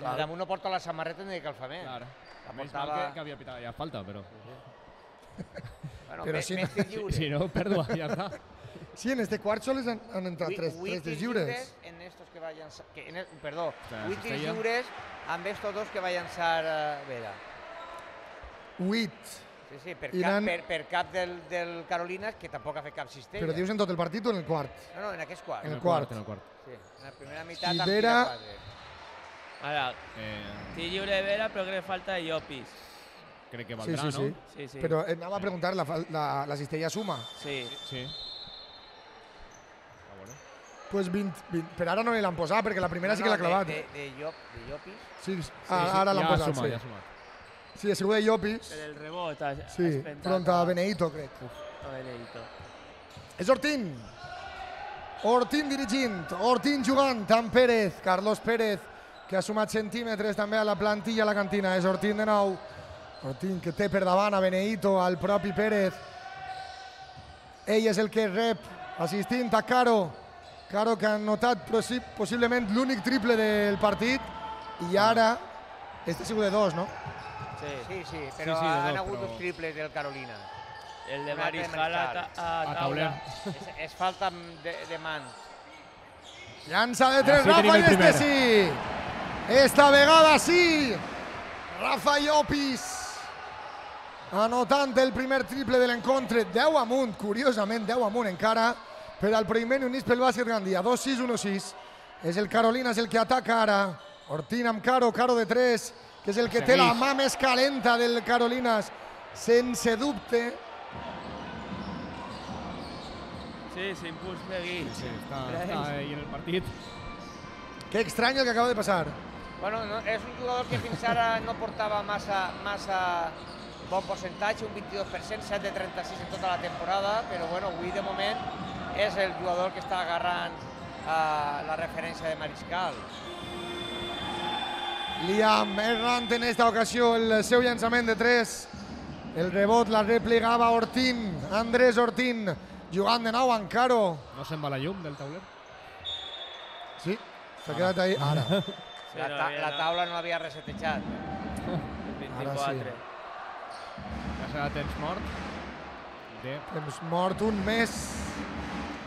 damunt no porta la samarreta ni de calfament. Claro. La Menys mal portava... que havia pitat ja falta, però... Bueno, Però si no- més tirs lliures. Si no, pèrdua, ja està. Sí, en este quart sols han entrat tres tirs lliures. En estos que va a lanzar... Perdó, Ostras, 8 tirs Cistella. lliures amb estos dos que va llançar Vera. 8. Sí, per I cap, n'han- per cap del Carolinas, que tampoc ha fet cap cistella. Però dius en tot el partit o en el quart? No, en aquest quart. En el quart. En el quart. Sí, en la primera meitat I amb Vera- tira quatre. Ara, tir lliure de Vera, però crec que falta Llopis. Crec que Sí, valdrà, sí, sí. no? Sí, sí. Però anava a preguntar, la cistella suma? Sí. Sí. Pues 20, per ara no l'han posat, perquè la primera sí que l'ha clavat. De Llopis. Sí, ara l'han ja posat, suma, sí. ja sumat. Sí, ha sigut de Llopis. Per el rebot has Sí, pentat front a Benedito, crec. a Benedito. És Ortín. Ortín dirigint, Ortín jugant amb Pérez, Carlos Pérez, que ha sumat centímetres també a la plantilla a la cantina. És Ortín de nou. Ortín que té per davant a Benedito, al propi Pérez. Ell és el que rep, assistint a Caro. Caro que ha notat possiblement l'únic triple del partit. I ara, este ha sigut de dos, no? Sí, però Sí, de han dos, hagut però- dos triples del Carolina. El de Un altre Mariscal Mariscal. a tauler. taula. És falta de mans. Llança de tres, Així Rafa, tenim i el este primer. sí. Esta vegada sí. Rafa Llopis anotant el primer triple de l'encontre. 10 amunt, curiosament, 10 amunt encara per al primer Unís pel bàsquet Gandia. 2-6, 1-6. És el Carolina, és el que ataca ara. Ortín amb Caro, Caro de 3, que és el que té la mà més calenta del Carolinas, sense dubte. Sí, s'impuls seguit. Sí, està ahí en el partit. Que estrany el que acaba de passar. Bueno, no, és un jugador que fins ara no portava massa bon percentatge, un 22%, 7 de 36 en tota la temporada, però bueno, avui de moment és el jugador que està agarrant la referència de Mariscal. Liam errant en esta ocasió el seu llançament de 3. El rebot la replegava Ortín, Andrés Ortín, jugant de nou amb Caro. No se'n va la llum del tauler? Sí, s'ha quedat ahí. Ara. Sí, La taula no havia resetejat. 24. Ja serà temps mort Temps mort, un més.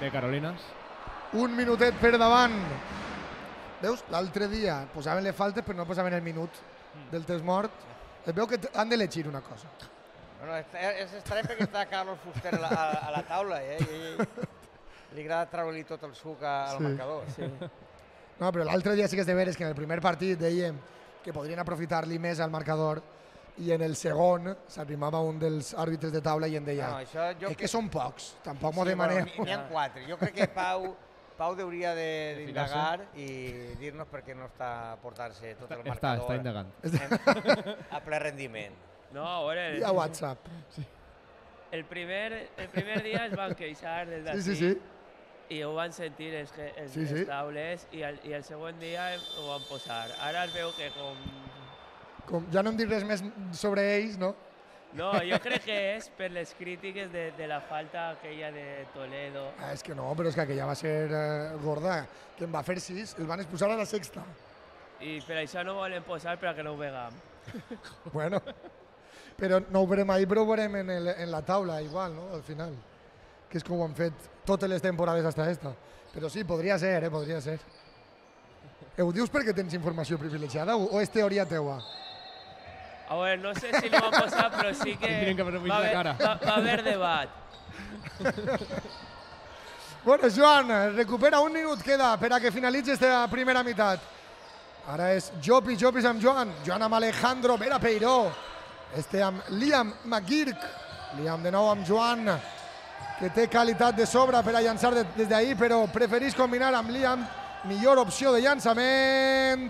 de Carolinas. Un minutet per davant. Veus? L'altre dia posaven les faltes però no posaven el minut del temps mort. Es veu que han d'elegir una cosa. Bueno, és estrany perquè està Carlos Fuster a la taula, i li agrada treure-li tot el suc al marcador. Sí. No, però l'altre dia sí que és de veres que en el primer partit dèiem que podrien aprofitar-li més al marcador i en el segon s'arrimava un dels àrbitres de taula i en deia és que són pocs, tampoc m'ho demanem. N'hi ha 4. Jo crec que Pau hauria d'indagar i dir-nos per què no està portant-se tot el marcador. Està indagant. A ple rendiment. No, a veure, I a WhatsApp. el primer dia es van queixar des d'ací Sí. i ho van sentir els taules i el següent dia ho van posar. Ara es veu que Com ja no em dic res més sobre ells, no? No, jo crec que és per les crítiques de la falta aquella de Toledo. És que no, però és que aquella va ser gorda, que en va fer 6, el van expulsar a la sexta. I per això no volen posar perquè no ho vegam. Bueno, però no ho veurem ahir, però ho veurem en la taula igual, no? Al final, que és com ho han fet totes les temporades hasta esta. Però sí, podria ser, podria ser. Ho dius perquè tens informació privilegiada o és teoria teua? A veure, no sé si l'ho van posar, però sí que va haver debat. Bueno, Joan, recupera un minut, queda per a que finalitzi esta primera meitat. Ara és Llopis amb Joan, Joan amb Alejandro Vera Peiró, este amb Liam McGurk, Liam de nou amb Joan, que té qualitat de sobre per a llançar des d'ahir, però preferís combinar amb Liam, millor opció de llançament.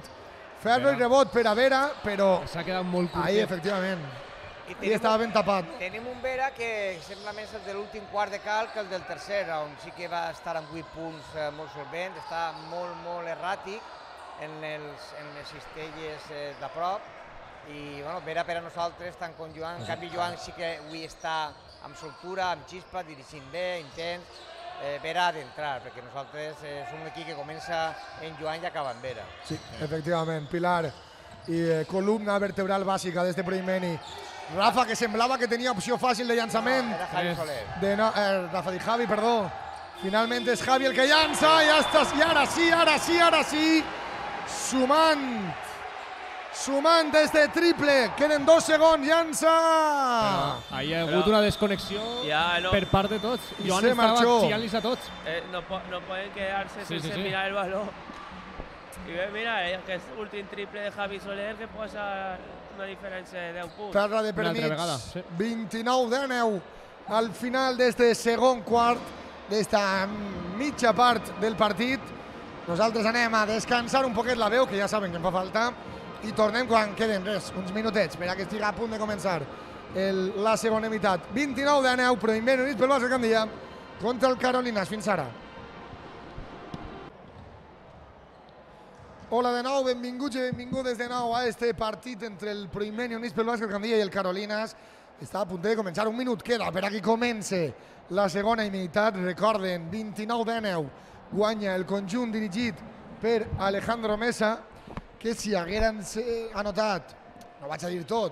Ferro i rebot per a Vera, però s'ha quedat molt curtet. ahí, efectivament. I estava ben tapat. Tenim un Vera que sembla més el de l'últim quart de cal que el del tercer, on sí que va estar amb 8 punts molt solvent, està molt erràtic en les cistelles de prop I bueno, Vera per a nosaltres, tant com Joan, en canvi Joan sí que avui està amb soltura, amb xispa, dirigint bé, intens. Vera ha d'entrar, perquè nosaltres és un equip que comença en Joan i acaba en Vera. Sí, efectivament, pilar i columna vertebral bàsica d'este Proimeni. Rafa, que semblava que tenia opció fàcil de llançament. No, era Javi Soler. Rafa di Javi, perdó. Finalment és Javi el que llança, i ara sí, sumant des de triple, queden 2 segons, llança! Hi ha hagut una desconnexió per part de tots. Joan estava xillant-los a tots. No pueden quedarse sense mirar el balón. I bé, mira, aquest últim triple de Javi Soler que posa una diferència de 10 punts. Terra de per mig, 29-19 al final d'este segon quart, d'esta mitja part del partit. Nosaltres anem a descansar un poquet la veu, que ja saben que em fa falta, i tornem quan queden uns minutets per a que estigui a punt de començar la segona meitat. 29-19, Proimeni Units pel Bàsquet Gandia contra el Carolinas. Fins ara. Hola de nou, benvinguts i benvingudes de nou a este partit entre el Proimeni Units pel Bàsquet Gandia i el Carolinas. Està a punt de començar, un minut queda per a que comenci la segona meitat. Recorden, 29-19, guanya el conjunt dirigit per Alejandro Mesa, que si hagueren anotat, no vaig a dir tot,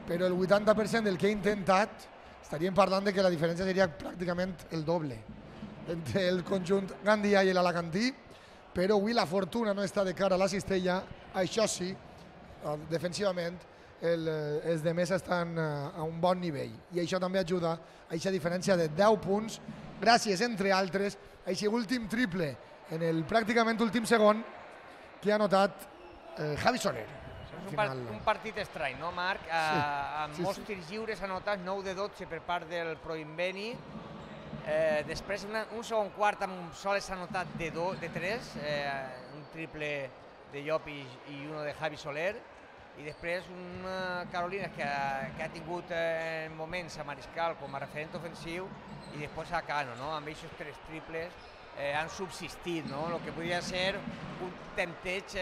però el 80% del que ha intentat, estaríem parlant de que la diferència seria pràcticament el doble entre el conjunt gandià i l'alacantí, però avui la fortuna no està de cara a la cistella. Això sí, defensivament els de Mesa estan a un bon nivell i això també ajuda a aquesta diferència de 10 punts gràcies, entre altres, a aquest últim triple en el pràcticament últim segon que ha anotat Javi Soler. És un partit estrany, no, Marc? Amb molts tirs lliures anotats, 9 de 12 per part del Proimeni. Després, un segon quart amb sols anotat de 3, un triple de Llop i uno de Javi Soler. I després un Carolinas que ha tingut moments a Mariscal com a referent ofensiu i després a Cano, no? Amb aquests 3 triples han subsistit, no? El que podria ser un tempteig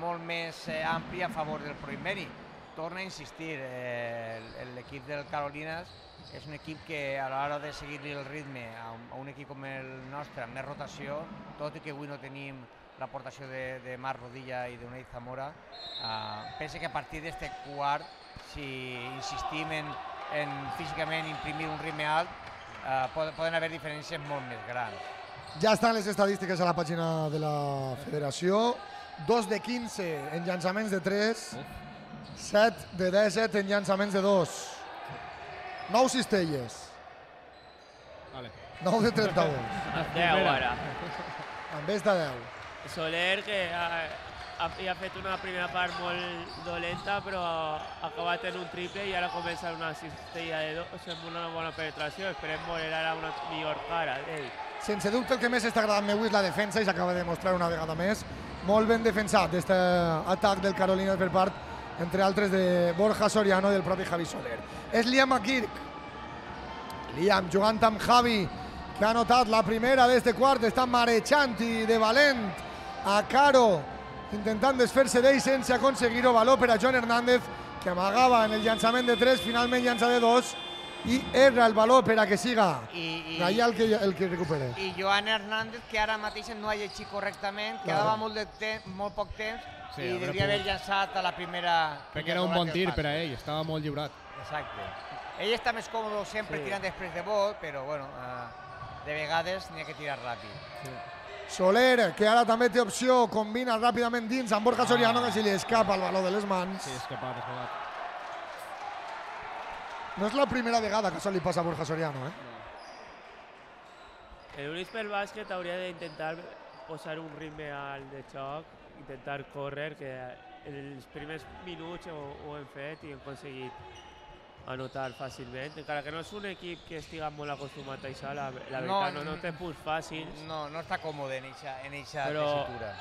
molt més ampli a favor del Proimeni. Torna a insistir, l'equip del Carolinas és un equip que a l'hora de seguir-li el ritme a un equip com el nostre, amb més rotació, tot i que avui no tenim l'aportació de Marc Rodilla i d'Unai Zamora, penso que a partir d'este quart, si insistim en físicament imprimir un ritme alt, poden haver diferències molt més grans. Ja estan les estadístiques a la pàgina de la federació. 2 de 15 en llançaments de 3, 7 de 17 en llançaments de 2. 9 cistelles. 9 de 32. 10 ara. En vez de 10. Soler, que ha fet una primera part molt dolenta, però ha acabat en un triple i ara comença una cistella de 2 amb una bona penetració. Esperem veure ara una millor cara d'ell. Sense dubte el que més està agradant avui és la defensa i s'acaba de demostrar una vegada més. Molt ben defensat aquest atac del Carolinas per part, entre altres, de Borja Soriano i del propi Javi Soler. És Liam McGurk. Liam jugant amb Javi, que ha anotat la primera d'este quart, està marejant i de valent a Caro, intentant desfer-se d'ell sense aconseguir-ho. Valor per a Joan Hernández, que amagava en el llançament de 3, finalment llança de 2, i erra el valor per a que siga Gallà el que recupera. I Joan Hernández, que ara mateix no ha llegit correctament, quedava molt poc temps i devia haver llançat a la primera... Perquè era un bon tir per a ell, estava molt lliurat. Exacte. Ell està més còmode sempre tirant després de bot, però bueno, de vegades n'hi ha que tirar ràpid. Soler, que ara també té opció, combina ràpidament dins amb Borja Soriano, que se li escapa el valor de les mans. Sí, escapat. No és la primera vegada que això li passa a Borja Soriano, Units pel Bàsquet hauria d'intentar posar un ritme alt de xoc, intentar córrer, que en els primers minuts ho hem fet i hem aconseguit anotar fàcilment, encara que no és un equip que estiga molt acostumat a això, la veritat, no té punts fàcils. No està còmode en eixa tessitura.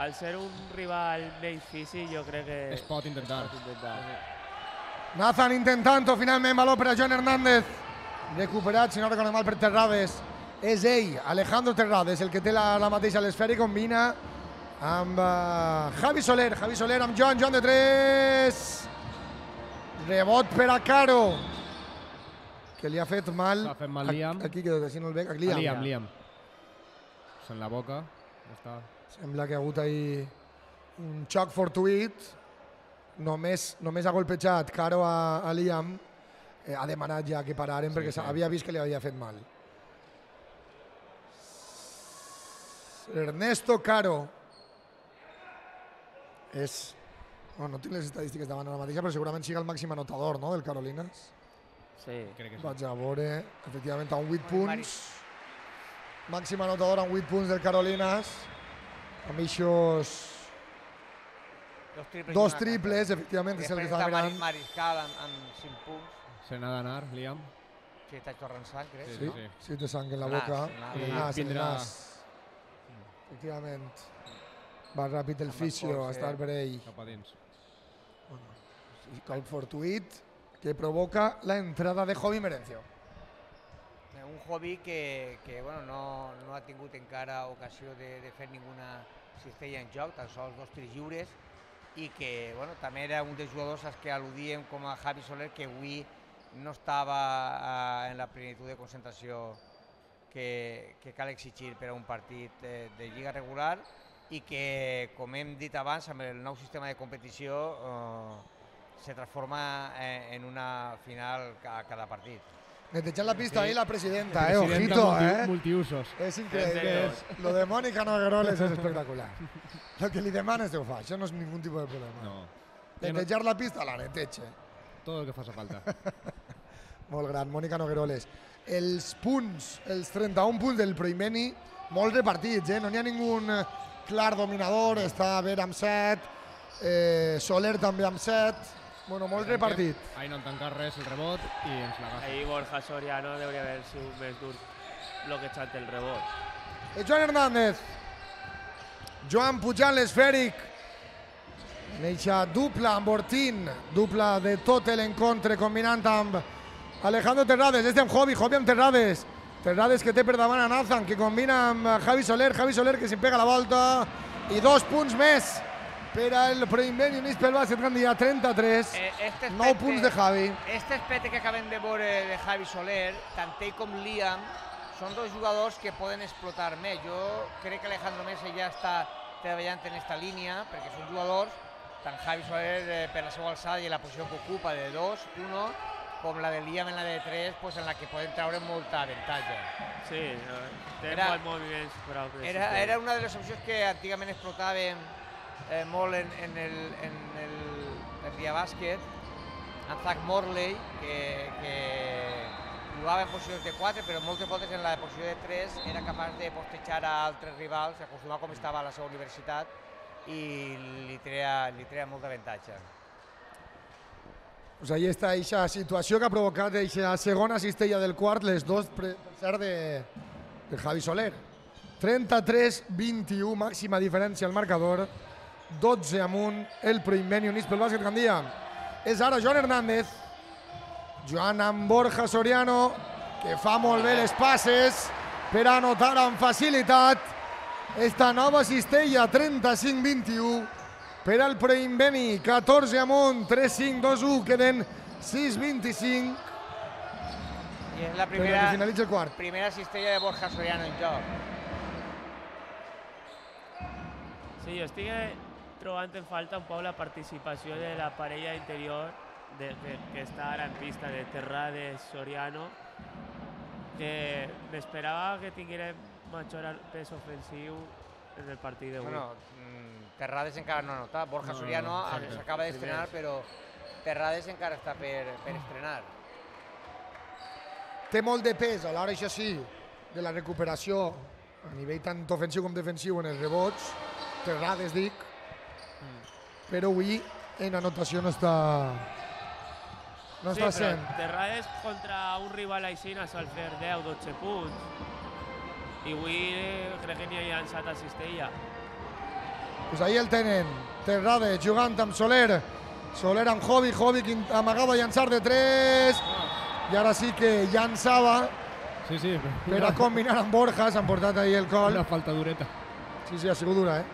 Al ser un rival menys físic, jo crec que... Es pot intentar. Nathan intentant-ho, finalment, valor per a Joan Hernández. Recuperat, si no recordo mal, per Terrades. És ell, Alejandro Terrades, el que té la mateixa l'esfera i combina amb Javi Soler amb Joan de 3. Rebot per a Caro, que li ha fet mal. S'ha fet mal Liam. Aquí, que si no el veig. Liam. En la boca. Ja està. Sembla que ha hagut ahí un xoc fortuït. Només ha golpejat Caro a Liam. Ha demanat ja que pararen perquè havia vist que li havia fet mal. Ernesto Caro és... No tinc les estadístiques davant ara mateixa, però segurament siga el màxim anotador, no?, del Carolinas. Sí, crec que sí. Vaig a veure, efectivament, amb 8 punts. Màxim anotador amb 8 punts del Carolinas. Amb eixos... Dos triples, efectivament, és el que estava mirant. Mariscal amb 5 punts. Se n'ha d'anar, Liam. Sí, està tornant sang, crec. Sí, té sang en la boca. En el nas. Efectivament. Va ràpid el fisio, a estar per ell. Cap a dins. Colp fortuït que provoca la entrada de Jovi Merencio. Un Jovi que no ha tingut encara ocasió de fer ninguna cistella en joc, tan sols 2 tirs lliures, i que també era un dels jugadors als que al·ludíem com a Javi Soler, que avui no estava en la plenitud de concentració que cal exigir per a un partit de lliga regular i que, com hem dit abans, amb el nou sistema de competició se transforma en una final a cada partit. Netejant la pista ahí la presidenta, ojito, multiusos. És increïble. Lo de Mónica Nogueroles és espectacular. Lo que li demanes ho fa, això no és ningú tipus de problema. No. Netejar la pista, la neteja. Tot el que faci falta. Molt gran, Mónica Nogueroles. Els punts, els 31 punts del Proimeni, molt repartits, no n'hi ha ningú clar dominador, està Ver amb 7, Soler també amb 7, bueno, molt repartit. Ahí no han tancat res el rebot i ens l'agafa. Ahí Borja Soriano hauria d'haver sigut més dur bloquejant el rebot. Joan Hernández, Joan pujant l'esfèric, neixa dupla amb Ortín, dupla de tot l'encontre combinant amb Alejandro Terrades, amb Jovi amb Terrades, Terrades que té per davant a Nathan, que combina amb Javi Soler que s'hi pega la volta, i 2 punts més per al Proimeni Units pel Bàsquet Gandia, 33, 9 punts de Javi. Este aspecte que acabem de veure de Javi Soler, tant ell com Liam, són 2 jugadors que poden explotar més. Jo crec que Alejandro Mesa ja està treballant en aquesta línia, perquè són jugadors, tant Javi Soler per la seva alçada i la posició que ocupa de 2, 1, com la de Liam en la de 3, en la que poden treure molta avantatge. Sí, té molts moviments prou. Era una de les opcions que antigament explotaven molt en el dia bàsquet, en Zach Morley, que jugava en posicions de 4, però moltes voltes en la posició de 3 era capaç de postejar a altres rivals, acostumar com estava a la seva universitat, i li treia molt d'avantatge. Pues ahí està aquesta situació que ha provocat aquesta segona cistella del quart, les 2 per cert de Javi Soler. 33-21, màxima diferència al marcador, 12 amunt el Proimeni Units pel Bàsquet Gandia. És ara Joan Hernández, Joan amb Borja Soriano, que fa molt bé les passes per anotar amb facilitat esta nova cistella, 35-21 per al Proimeni, 14 amunt, 3-5-2-1, queden 6-25 i és la primera cistella de Borja Soriano en joc. Sí, jo estic trobant en falta un poc la participació de la parella interior que està ara en pista, de Terrades, Soriano, que m'esperava que tinguérem major pes ofensiu en el partit d'avui. Terrades encara no ha notat, Borja Soriano s'acaba d'estrenar, però Terrades encara està per estrenar. Té molt de pes a l'hora, això sí, de la recuperació a nivell tant ofensiu com defensiu en els rebots, Terrades dic, però avui en anotació no està sent. Terrades contra un rival així sol fer 10-12 punts i avui crec que n'hi ha llançat a cistella. Pues ahí el tenen, Terrades jugant amb Soler, Soler amb Jovi que amagava a llançar de 3 i ara sí que llançava per a combinar amb Borja, s'han portat ahí el col. Una falta dureta. Sí, ha sigut dura,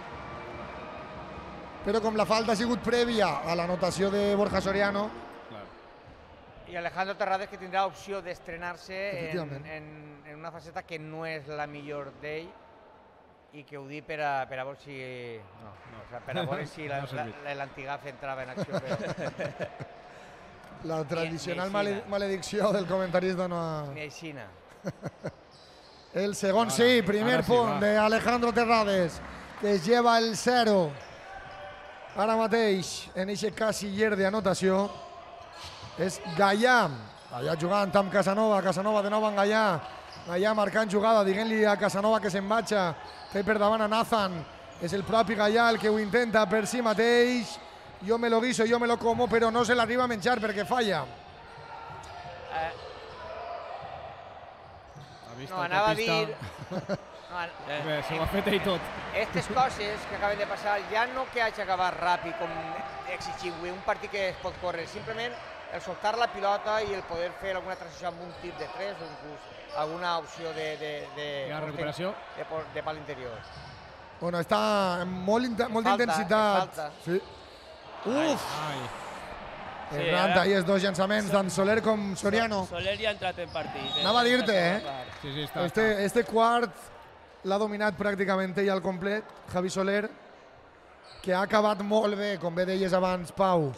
però com la falta ha sigut prèvia a l'anotació de Borja Soriano... I Alejandro Terrades, que tindrà opció d'estrenar-se Efectivament. en una faceta que no és la millor d'ell i que ho dic per a veure si... No. O sigui, per a veure si l'Antigaf entrava en acció. Però... La tradicional Ni aixina. maledicció del comentarista no ha... Ni aixina. El segon sí, primer punt de Alejandro Terrades, que es lleva el 0. Ara mateix, en aquest casiller d'anotació, és Gallà. Gallà jugant amb Casanova, Casanova de nou amb Gallà. Gallà marcant jugada, diguent-li a Casanova que se'n vaja. Té per davant a Nathan. És el propi Gallà el que ho intenta per si mateix. Jo me lo guiso, jo me lo como, però no se l'arriba a menjar perquè falla. No, anava a dir... Se ho ha fet ell tot. Aquestes coses que acaben de passar, ja no que hagi acabat ràpid, com exigir un partit que es pot córrer, simplement el soltar la pilota i el poder fer alguna transició amb un tir de 3 o inclús alguna opció de recuperació de pal interior. Bueno, està amb molt d'intensitat. Falta. Sí. Uf! Errant ahí els dos llançaments, tant Soler com Soriano. Soler ja ha entrat en partit. Anava a dir-te, Sí, està. Este quart l'ha dominat pràcticament ell al complet, Javi Soler, que ha acabat molt bé, com bé deies abans, Pau,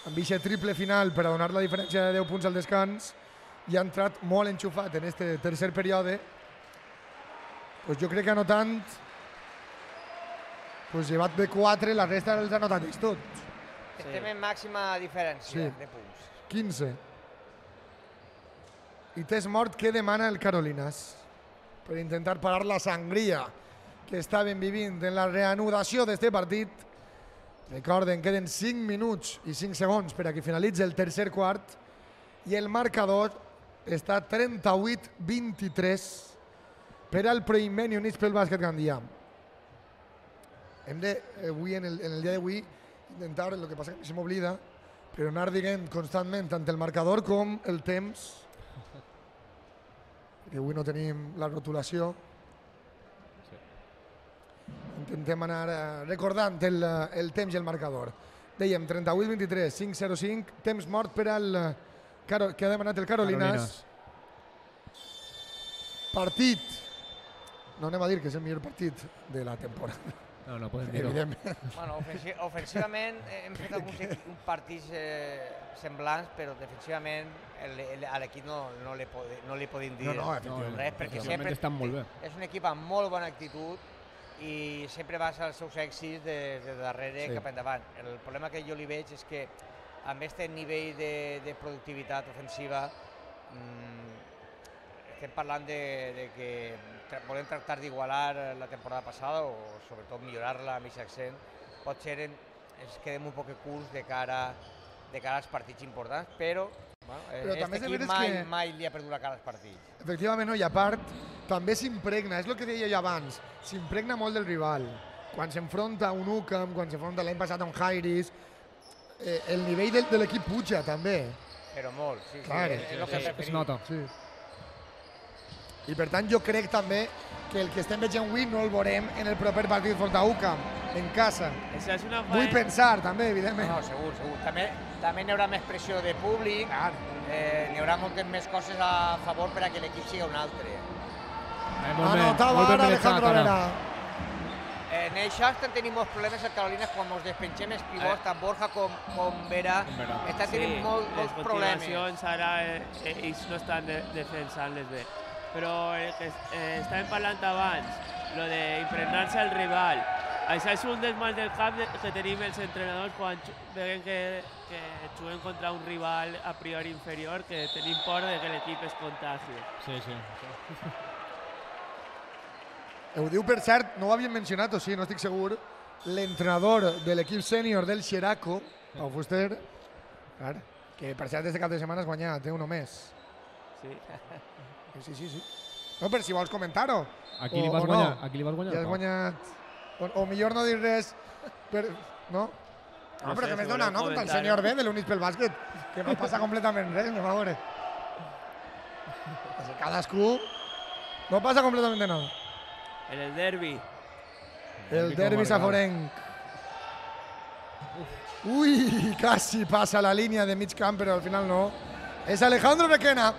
amb aquest triple final per a donar la diferència de 10 punts al descans, i ha entrat molt enxufat en este tercer període. Pues jo crec que anotant, pues llevat de 4, la resta els ha anotat ells tots. Estem en màxima diferència Sí. de punts. 15. I test mort, què demana el Carolinas? Per intentar parar la sangria que estaven vivint en la reanudació d'este partit. Recorden, queden 5 minuts i 5 segons per a que finalitzi el tercer quart i el marcador està 38-23 per al Proimeni Units pel Bàsquet Gandia. Hem de, avui, en el dia d'avui, intentar, el que passa que se m'oblida, però anar dient constantment tant el marcador com el temps, que avui no tenim la rotulació. Intentem anar recordant el temps i el marcador. Dèiem 38-23, 5-0-5, temps mort per al que ha demanat el Carolinas. Partit. No anem a dir que és el millor partit de la temporada. No podem dir-ho. Evidentment. Bueno, ofensivament hem fet alguns partits semblants, però defensivament a l'equip no li podem dir res, perquè sempre estan molt bé. és un equip amb molt bona actitud i sempre basa els seus èxits de darrere cap endavant. El problema que jo li veig és que amb aquest nivell de productivitat ofensiva estem parlant de que volem tractar d'igualar la temporada passada o sobretot millorar-la amb aquest accent. Potser ens quedem un poc curts de cara als partits importants, però aquest equip mai li ha perdut la cara als partits. Efectivament, no, i a part, també s'impregna, és el que deia jo abans, s'impregna molt del rival. Quan s'enfronta a un Ucam, quan s'enfronta l'any passat a un Jairis, el nivell de l'equip puja també. Però molt, sí, Clar, és el que preferim. Es nota. Sí. I per tant jo crec també que el que estem veient avui no el veurem en el proper partit contra Ucam, en casa. Esa és una Vull pensar també, evidentment. No, segur. També n'hi haurà més pressió de públic, n'hi haurà moltes més coses a favor per a que l'equip sigui un altre. Anotava ara Alejandro Vera. En això tenim molts problemes al Carolinas quan ens despengem els pivots, tant Borja com Vera, estan tenint molts problemes. Les continuacions ara ells no estan defensant-les bé. Però el que estàvem parlant abans, lo d'impregnar-se al rival, això és un dels mals del cap que tenim els entrenadors quan veiem que juguem contra un rival a priori inferior, que tenim por de que l'equip es contagi. Sí. Ho diu, per cert, no ho havíem mencionat, o sí, no estic segur, l'entrenador de l'equip sènior del Xeraco, Pau Fuster, que per cert, este cap de setmana has guanyat, té uno més. Sí. Sí. No, però si vols comentar-ho. Aquí li vas guanyar? Aquí li vas guanyar? Ja has guanyat. O millor no dir res. No? No, però que m'has donat, no? Contra el senyor B de l'Units pel Bàsquet, que no passa completament res, anem a veure. Cadascú no passa completament nada. En el derbi. El derbi saforenc. Uy, casi pasa la línea de mig camp, pero al final no. Es Alejandro Requena.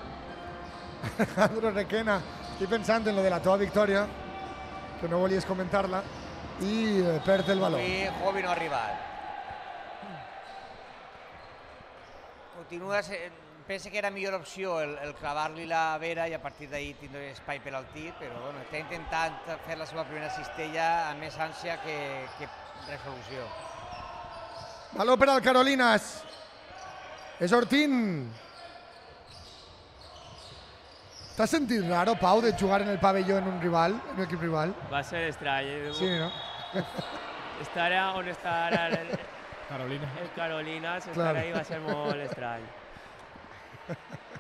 Alejandro Requena. Estoy pensando en lo de la teva victòria, que no volies comentar-la, i perd el valor. Avui Jovi no ha arribat. Continua sent... Pensa que era millor opció el clavar-li la vera i a partir d'ahir tindre espai per al tir, però bueno, està intentant fer la seva primera cistella amb més ànsia que resolució. Valor per al Carolinas. És Ortín. ¿T'has sentit raro, Pau, de jugar en el pabelló en un rival, en un equip rival? Va a ser extraño. Sí, ¿no? Estar on està ara el Carolinas, estar ahí va a ser molt estrany.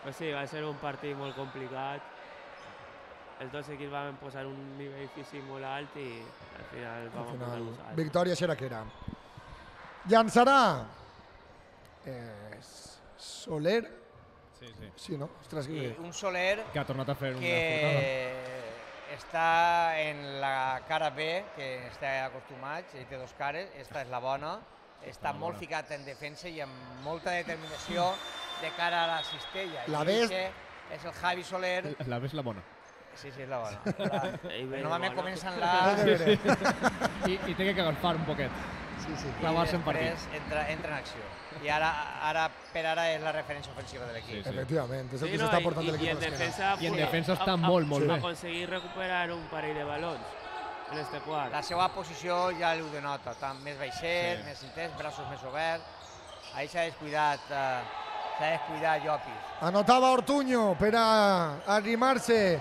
Pues sí, va ser un partit molt complicat. Els dos equips van posar un nivell físic molt alt i al final vam posar nosaltres. Victòria xeraquera. Llançarà Soler. Sí, no? Ostres, I un Soler que ha tornat a fer una que està en la cara B, que està acostumat, ell té dos cares, esta és la bona, està molt ficat en defensa i amb molta determinació de cara a la cistella. La B és el Javi Soler. La B és la bona. Sí, és la bona. Normalment comencen la... I té que agafar un poquet. Sí. Clavar-se en partit. I després entra en acció. I ara per ara és la referència ofensiva de l'equip. Efectivament, és el que s'està portant de l'equip. I en defensa està molt bé. Va aconseguir recuperar un parell de balons en este quart. La seva posició ja ho denota, més baixet, més intens, braços més oberts. Ahí s'ha descuidat Llopis. Anotava Ortuño per a arrimar-se,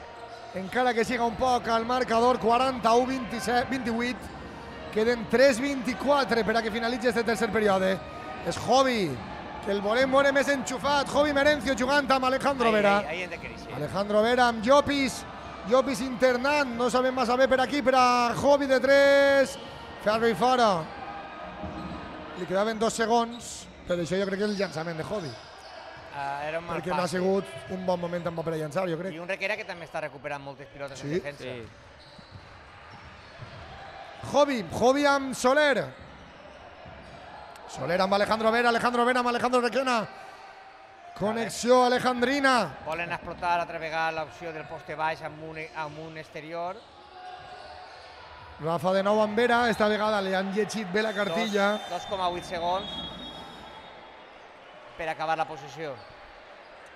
encara que siga un poc al marcador, 41-28. Queden 3-24 per a que finalitzi este tercer període. És Jovi, que el volem veure més enxufat. Jovi Merencio jugant amb Alejandro Vera. Ahí hem de créixer. Alejandro Vera amb Llopis. Llopis internant, no sabem massa bé per aquí, per a Jovi de 3. Ferro i fora. Li quedaven 2 segons, per això jo crec que és el llançament de Jovi. Perquè no ha sigut un bon moment tampoc per a llançar, jo crec. I un Requena que també està recuperant moltes pilotes en defensa. Jovi amb Soler. Soler amb Alejandro Vera amb Alejandro Requena. Connexió alejandrina. Volen explotar altra vegada l'opció del poste baix amb un exterior. Rafa de nou amb Vera, esta vegada li han llegit bé la cartilla. 2,8 segons per acabar la posició.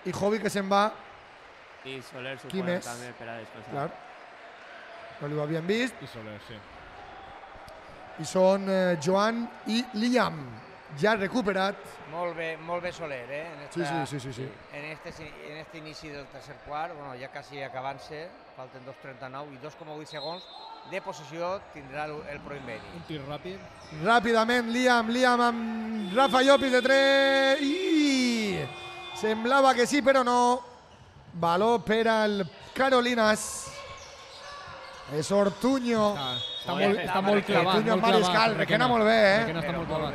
I Jovi que se'n va. I Soler suposa també per a descansar. Clar. No li ho havien vist. I Soler, sí. I són Joan i Liam, ja recuperat. Molt bé Soler, Sí. En este inici del tercer quart, bueno, ja quasi acabant-se, falten 2,39 i 2,8 segons de posició tindrà el Proinbeni. Un tir ràpid. Ràpidament Liam amb Rafa Llopis de 3 i semblava que sí, però no. Valor per al Carolinas. És Ortuño. Està molt clavat. Ortuño amb Mariscal, Requena molt bé, Requena està molt clavat.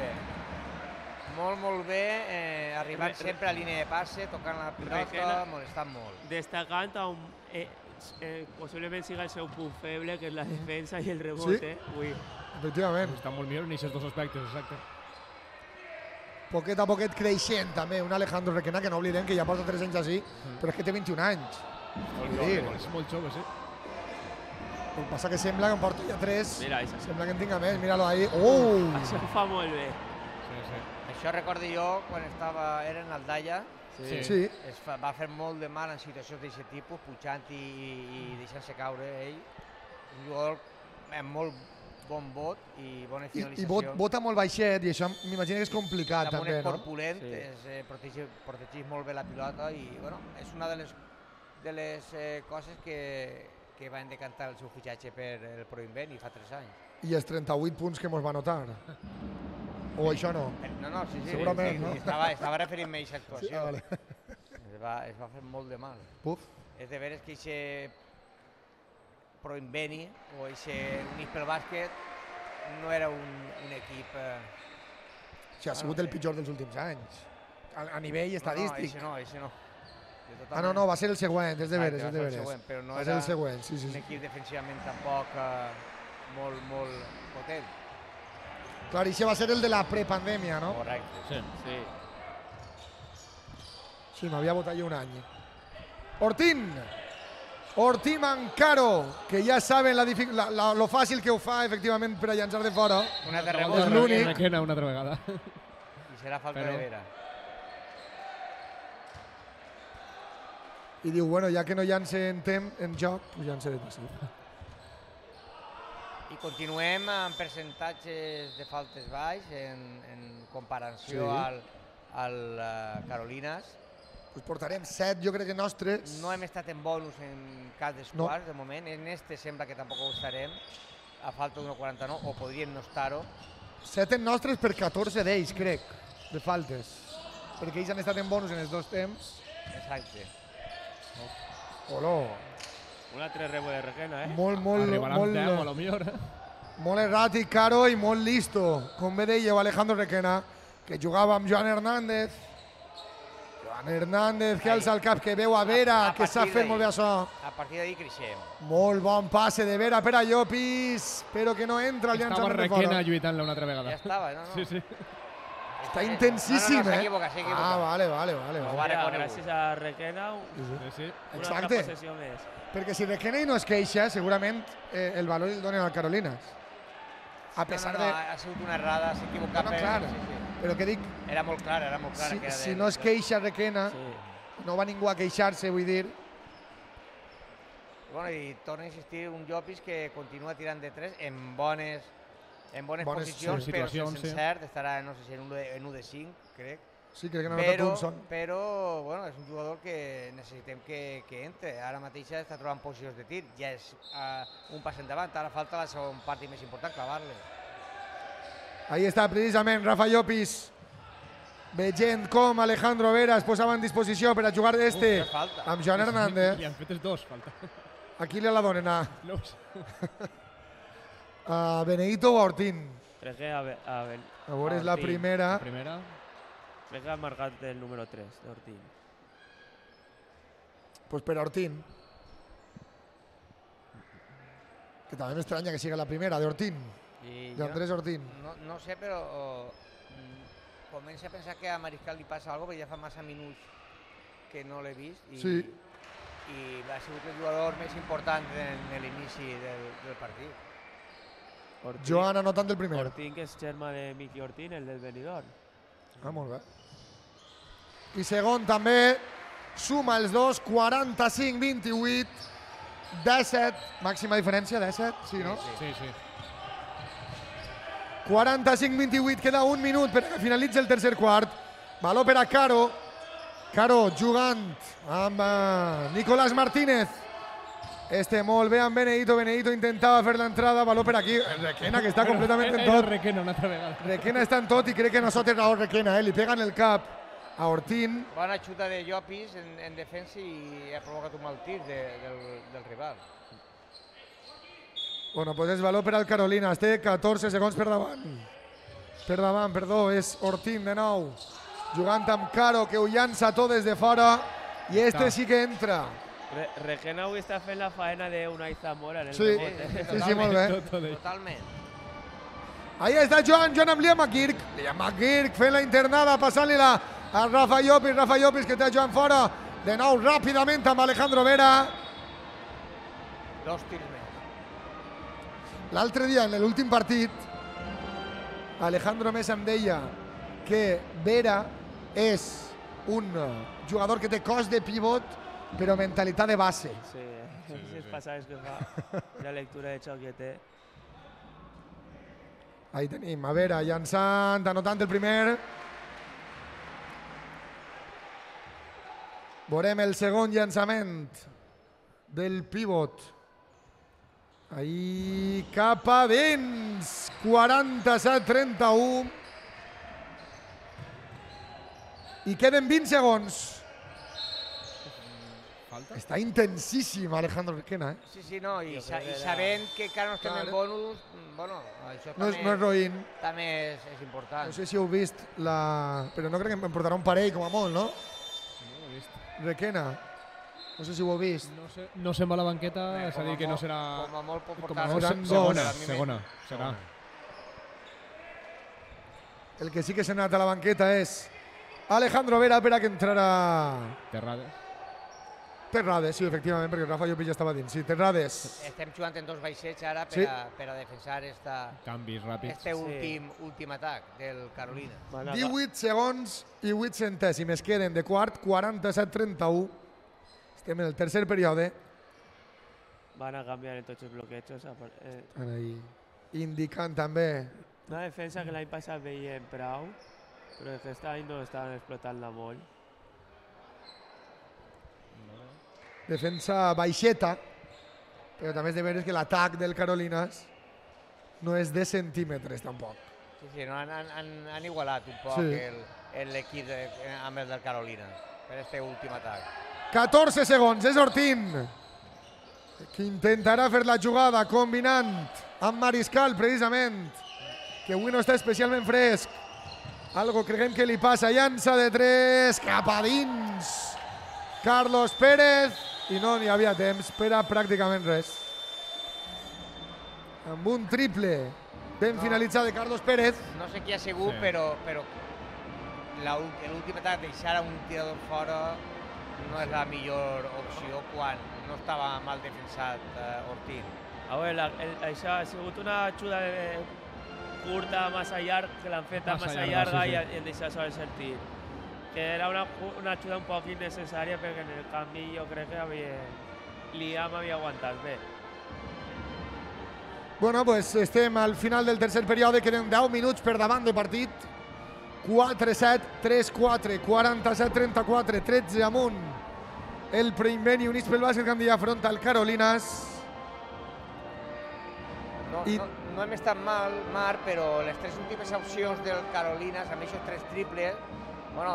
Molt bé, arribant sempre a línia de passe, tocant la pilota, molestant molt. Destacant possiblement siga el seu punt feble, que és la defensa i el rebote. Efectivament. Està molt millor en aquests dos aspectes, exacte. Poquet a poquet creixent també un Alejandro Requena, que no oblidem que ja porta 3 anys així, però és que té 21 anys. És molt jove, sí. El que passa que sembla que en porta ja 3. Mira, això. Sembla que en tinga més, mira-lo ahí. Això ho fa molt bé. Això recordo jo quan era en Aldaia. Sí. Va fer molt de mal en situacions d'aquest tipus, pujant i deixant-se caure ell. Un jugador amb molt bon vot i bona finalització. I vota molt baixet i això m'imagino que és complicat també, no? Amb un esport pulent, protegeix molt bé la pilota i bueno, és una de les coses que van decantar el seu fitxatge per el Proinbeni fa 3 anys. I els 38 punts que mos va anotar. O això no? No, sí. Segurament, no? Estava referint-me a aquesta actuació. Sí, vale. Es va fer molt de mal. Puf. És de veres que aquest Proinbeni o aquest Units pel Bàsquet no era un equip... Sí, ha sigut el pitjor dels últims anys. A nivell estadístic. No, això no. No, va ser el següent, és de veres. Però no era el següent, sí. Un equip defensivament tampoc molt potent. Clar, i això va ser el de la prepandèmia, no? Correcte. Sí. Sí. Sí, m'havia votat jo un any. Ortín. Ortín Ancaro, que ja saben lo fàcil que ho fa, efectivament, per a llançar de fora. Una de És rebot l'únic. Requena una altra vegada. i serà falta Però- de Vera. I diu, bueno, ja que no llance en joc, pues llançaré de sí. I continuem amb percentatges de faltes baix en comparació Sí. al Carolinas. Pues portarem 7, jo crec que nostres. No hem estat en bonus en cap dels No. quarts, de moment. En este sembla que tampoc ho estarem, a falta d'1,49, o podríem no estar-ho. 7 en nostres per 14 d'ells, crec, de faltes. Perquè ells han estat en bonus en els dos temps. Exacte. Oló, Un altre rebo de Requena, molt, Arribarà amb 10, a lo millor. molt erràtic, Caro, i molt listo. Com bé dèieu, Alejandro Requena, que jugava amb Joan Hernández. Joan Hernández, que alça el cap, que veu a Vera, A que sap partir fer d'ahí. molt bé això. A partir d'ahir creixem. Molt bon passe de Vera per a Llopis, però que no entra el Estava llançament de Requena fora. lluitant-la una altra vegada. Ja estava, no? Sí, sí. Està intensíssim, no, eh? s'equivoca. Ah, vale. Ho ha Mira, reconegut. gràcies a Requena, Sí, sí. una Exacte. altra possessió més. Perquè si Requena i no es queixa, segurament el valor el donen al Carolinas. A pesar de... Ha sigut una errada, s'ha equivocat. No, per- clar. sí. Però que dic, Era molt clara, que era si no es queixa Requena, Sí. no va ningú a queixar-se, vull dir. Bueno, i torno a insistir, un Llopis que continua tirant de 3 en bones Bones posicions, però situacions, sense sí. cert, estarà, no sé si en 1 de 5, crec. Sí, crec que no ha notat un son. Però bueno, és un jugador que necessitem que entre. Ara mateix està trobant posicions de tir, ja és un pas endavant, ara falta la segona part i més important, clavar-le. Ahí està precisament Rafa Llopis, veient com Alejandro Vera es posava en disposició per a jugar este Uf, que falta. amb Joan Hernández. Li han fet els dos, falta. A qui li la donen? No ho sé. A Benedito o a Ortín? Requena, a veure, és la Ortín. primera. Primera. Crec que ha marcat el número 3 d'Ortín. Pues per a Ortín. Que també m'estranya que siga la primera, de Ortín, I de Andrés Ortín. no sé, però comença a pensar que a Mariscal li passa alguna cosa, perquè ja fa massa minuts que no l'he vist i, Sí. i ha sigut el jugador més important en l'inici del partit. Ortín, Joan anotant el primer. Ortín, que és germà de Miqui Ortín, el del Benidorm. Ah, molt bé. I segon també, suma els dos, 45-28, 17, màxima diferència, 17, sí, no? Sí, sí. 45-28, queda un minut per que finalitzi el tercer quart. Valor per a Caro. Caro jugant amb Nicolás Martínez. Este molt bé amb Benedito. Benedito intentava fer l'entrada. Valor per aquí. Requena, que està completament en Era tot. Requena una altra vegada. Requena està en tot i crec que no sota raó Requena. Li pega en el cap a Ortín. Bona xuta de Llopis en defensa i ha provocat un mal tir del rival. Bueno, pues és valor per al Carolinas. Té 14 segons per davant. Per davant, perdó, és Ortín de nou. Jugant amb Caro, que ho llança tot des de fora. I este sí que entra. Requena avui està fent la faena d'Unai Zamora en el Sí, rebote. sí, molt bé. Totalment. Ahí està Joan amb Liam McGurk. Liam McGurk fent la internada, passant-li-la a Rafa Llopis. Rafa Llopis que té Joan fora. De nou, ràpidament amb Alejandro Vera. 2 tirs més. L'altre dia, en l'últim partit, Alejandro Més em deia que Vera és un jugador que té cos de pivot, però mentalitat de base. Sí, les passades que fa, la lectura de xoc que té. Ahí tenim, a Vera llançant, anotant el primer. Veurem el segon llançament del pivot. Ahí cap a dins, 47-31. I queden 20 segons. Falta? Està intensíssim Alejandro Requena, Sí, no, i Jo crec que era- sabent que encara no estem Clar. en bonus, bueno, això No és també, roïn. també és important. No sé si heu vist però no crec que em portarà un parell com a molt, no? No ho he vist. Requena. No sé si ho heu vist. No se'n va a la banqueta, és a dir, que no serà... Com a molt pot Com portar... a molt seran segona, dos. segona, serà. El que sí que s'ha anat a la banqueta és Alejandro Vera per a que entrarà Terrades, sí, efectivament, perquè Rafa Llopis ja estava dins. Sí, Terrades. Estem jugant en dos baixets ara Sí. per a defensar Canvis ràpids. este últim atac del Carolina. 18 segons i 8 centèsimes queden de quart, 47-31. Estem en el tercer període. Van a cambiar en tots els bloquejos. Estan ahí indicant també. Una defensa que l'any passat veiem prou, però aquest any no estaven explotant-la molt. Defensa baixeta, però també és de veure que l'atac del Carolinas no és de centímetres tampoc. Sí, no, han igualat un poc l'equip amb el del Carolina per este últim atac. 14 segons, és Ortín, que intentarà fer la jugada combinant amb Mariscal, precisament, que avui no està especialment fresc. Algo creguem que li passa, llança de 3, cap a dins. Carlos Pérez, i no n'hi havia temps per a pràcticament res. Amb un triple ben finalitzat de Carlos Pérez. No sé qui ha sigut, però l'últim atac deixar a un tirador fora no és la millor opció quan no estava mal defensat Ortín. A veure, això ha sigut una ajuda curta, massa llarga, que l'han fet massa llarga i han deixat sols el tir. Que era una ajuda un poc innecessària perquè en el canvi jo crec que Liam havia aguantat bé. Bueno, pues estem al final del tercer període, queden 10 minuts per davant de partit. 4-7, 3-4, 47-34, 13 amunt. El Preimbeni Units pel Bàsquet Gandia afronta el Carolinas. No hem estat mal, Marc, però les tres últimes opcions del Carolinas, amb aquests 3 triples,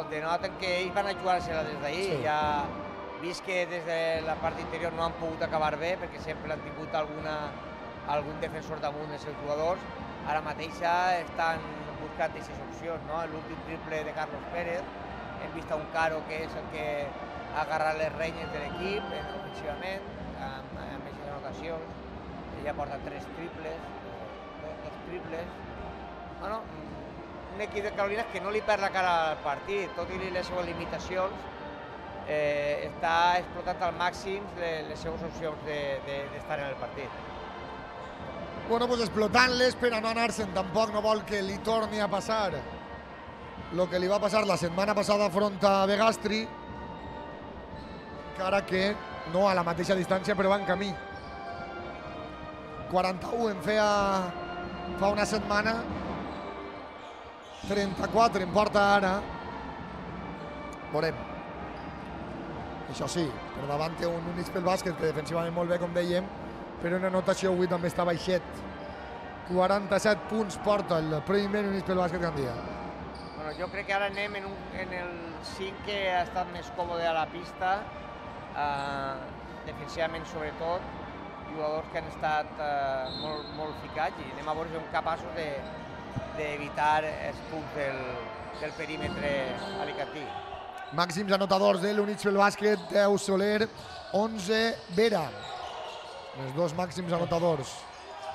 denoten que ells van a jugar-se-la des d'ahir. Ja vist que des de la part interior no han pogut acabar bé, perquè sempre han tingut algun defensor damunt dels seus jugadors. Ara mateix estan buscant aquestes opcions. L'últim triple de Carlos Pérez, hem vist un Caro que és el que ha agarrat les renyes de l'equip ofensivament, amb aquestes anotacions. Ella porta 3 triples, 2 triples. Un equip de Carolina que no li perd la cara al partit, tot i les seves limitacions, està explotant al màxim les seves opcions d'estar en el partit. Bueno, pues explotant-les per a no anar-se'n. Tampoc no vol que li torni a passar el que li va passar la setmana passada front a Begastri, encara que no a la mateixa distància, però va en camí. 41 en feia fa una setmana, 34 en porta ara. Veurem. Això sí, per davant té un Units pel Bàsquet que defensivament molt bé, com dèiem, però una anotació avui també està baixet. 47 punts porta el Preimbeni Units pel Bàsquet Gandia. Jo crec que ara anem en el 5 que ha estat més còmode a la pista, defensivament sobretot, jugadors que han estat molt ficats i anem a veure si som capaços d'evitar els punts del perímetre alicantí. Màxims anotadors de l'Units pel Bàsquet, 10 Soler, 11 Vera. Els dos màxims anotadors.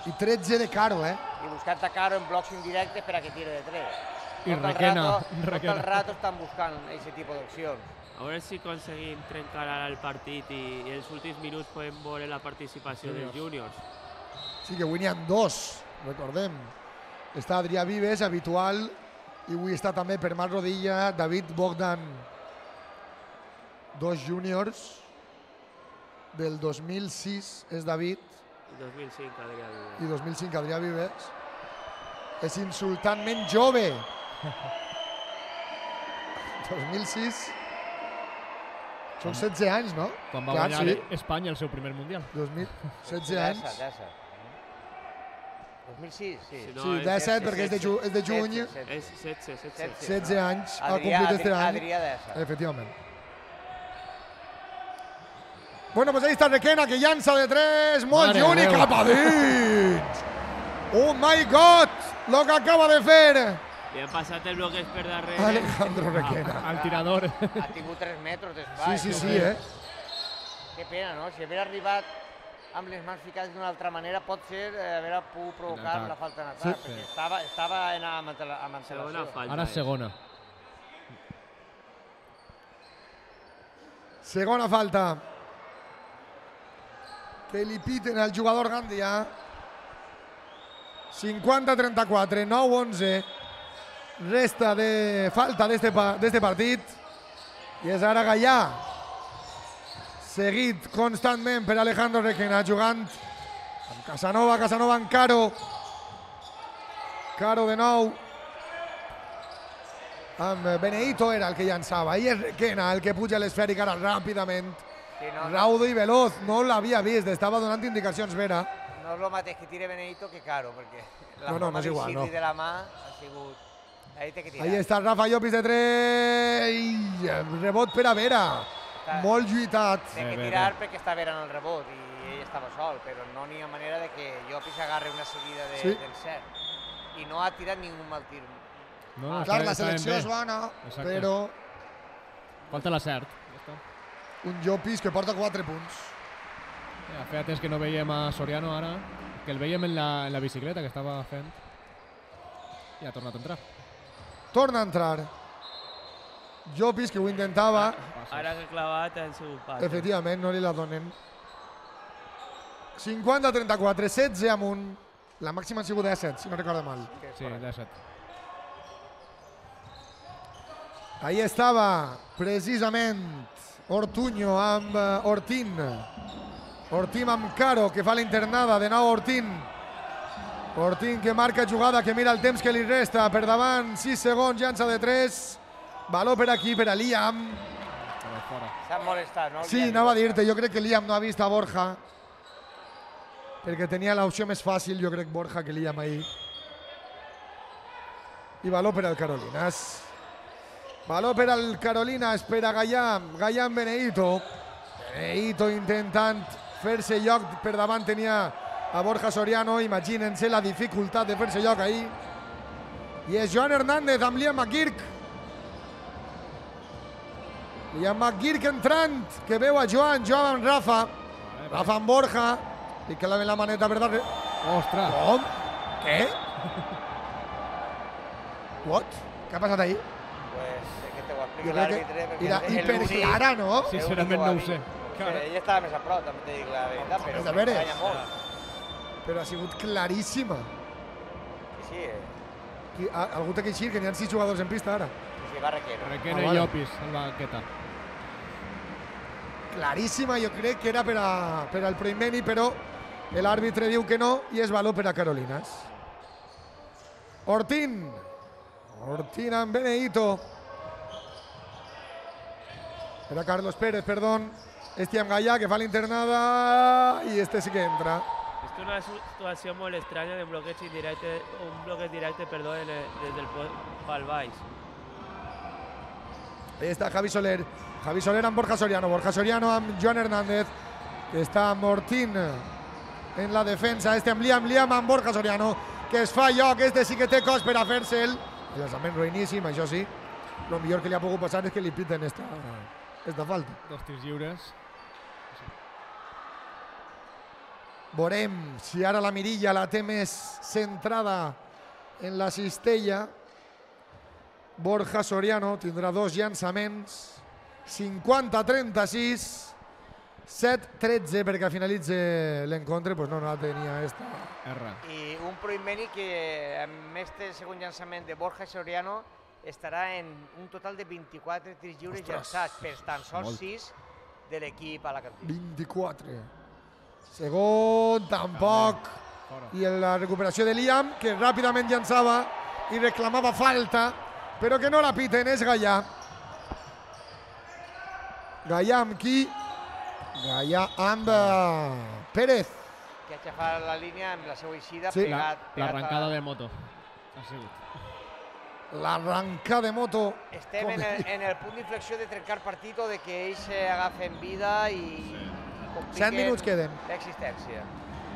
I 13 de Caro, I buscant a Caro en blocs indirectes per a que tire de 3. I Requena. Tot el rato estan buscant aquest tipus d'opcions. A veure si aconseguim trencar ara el partit i els últims minuts podem veure la participació dels júniors. Sí, que avui n'hi ha 2, recordem. Està Adrià Vives, habitual, i avui està també per Marc Rodilla, David Bogdan. 2 júniors del 2006 és David. I 2005 Adrià Vives. I 2005 Adrià Vives. És insultantment jove. 2006. Són 16 anys, no? Quan va guanyar Espanya el seu primer Mundial. 16 anys. 2006, sí. Sí, 17 perquè és de juny. És 16. 16 anys ha complit este any. Adrià Dessa. Efectivament. Bueno, pues ahí está Requena, que llança de 3, molt lluny, cap a dins. Oh my God, lo que acaba de fer. Li han passat el bloqueig per darrere. Alejandro Requena. Al tirador. Ha tingut 3 metres d'espai. Sí, Que pena, no? Si hagués arribat amb les mans ficades d'una altra manera pot ser haver pogut provocar la falta en atac, perquè estava amb antelació. Ara segona. Segona falta que li piten al jugador Gandia. 50-34, 9-11. Resta de falta d'este partit. I és ara Gallà, seguit constantment per Alejandro Requena, jugant amb Casanova amb Caro. Caro de nou. Amb Benedito era el que llançava. I és Requena el que puja a l'esfèrica ara ràpidament. Raudo i veloç, no l'havia vist, estava donant indicacions Vera. No és el mateix que tire Benedito que Caro, perquè la no és igual, no. de la mà ha sigut... Ahí té que tirar. Ahí està Rafa Llopis de 3. Rebot per a Vera. Molt lluitat. Té que tirar perquè està Vera en el rebot i ell estava sol, però no n'hi ha manera de que Llopis agarre una seguida del cert. I no ha tirat ningú mal tir. Clar, la selecció és bona, però... Falta la cert. Un Llopis que porta 4 punts. Feia temps que no veiem a Soriano ara, que el veiem en la bicicleta que estava fent. I ha tornat a entrar. Torna a entrar. Llopis, que ho intentava. Ara que ha clavat han sigut passes. Efectivament, no li la donen. 50-34, 16 amunt. La màxima han sigut 17, si no recordo mal. Sí, 17. Ahí estava, precisament, Ortuño amb Ortín. Ortín amb Caro, que fa la internada. De nou Ortín. Ortín que marca jugada, que mira el temps que li resta. Per davant, 6 segons, llança de 3. Valor per aquí, per a Liam. S'ha molestat, no? Sí, anava a dir-te, jo crec que Liam no ha vist a Borja. Perquè tenia l'opció més fàcil, jo crec, Borja, que Liam ahir. I valor per al Carolinas. Valor per al Carolinas, per a Gallà. Gallà amb Benedito. Benedito intentant fer-se lloc. Per davant tenia a Borja Soriano. Imagínense la dificultat de fer-se lloc ahir. I és Joan Hernández amb Liam McGurk. Liam McGurk entrant, que veu a Joan amb Rafa. Rafa amb Borja. I que la maneta per darrere. Ostres! Com? Què? What? Què ha passat ahir? Pues que te ho expliqui Jo crec l'àrbitre, que era hiperclara, no? Sincerament no ho sé. Ell estava més a prop, també t'he dit la veritat, però a veure. m'estranya molt. Però ha sigut claríssima. Sí, Algú té que eixir, que n'hi ha 6 jugadors en pista ara. sí, va Requena. Requena i Llopis, en la banqueta. Claríssima, jo crec que era per al Proimeni, però l'àrbitre diu que no i és valor per a Carolinas. Ortín. Ortín amb Benedito. Era Carlos Pérez, perdón. Este amb Gallà, que fa la internada, i este sí que entra. És una situació molt estranya de bloqueig indirecte, un bloqueig directe, perdó, des del pal baix. Ahí està Javi Soler. Javi Soler amb Borja Soriano. Borja Soriano amb Joan Hernández, que està amb Ortín en la defensa. Este amb Liam amb Borja Soriano, que es fa lloc. Este sí que té cos per a fer-se'l. El llançament ruïníssim, això sí. El millor que li ha pogut passar és que li piten esta falta. 2 tirs lliures. Veurem si ara la mirilla la té més centrada en la cistella. Borja Soriano tindrà 2 llançaments. 50-36. 7-13 perquè finalitzi l'encontre, doncs no la tenia esta. I un Proimeni que amb este segon llançament de Borja Soriano estarà en un total de 24 tirs lliures llançats per tan sols 6 de l'equip alacantí. 24. Segon, tampoc. I la recuperació de Liam, que ràpidament llançava i reclamava falta, però que no la piten, és Gallà. Gallà amb qui? Gallà amb Pérez. Que ha aixafat la línia amb la seva eixida, Sí. L'arrencada de moto. Ha sigut. L'arrenca de moto. Estem en el punt d'inflexió de trencar partit o de que ells agafen vida i compliquen 7 minuts queden. l'existència.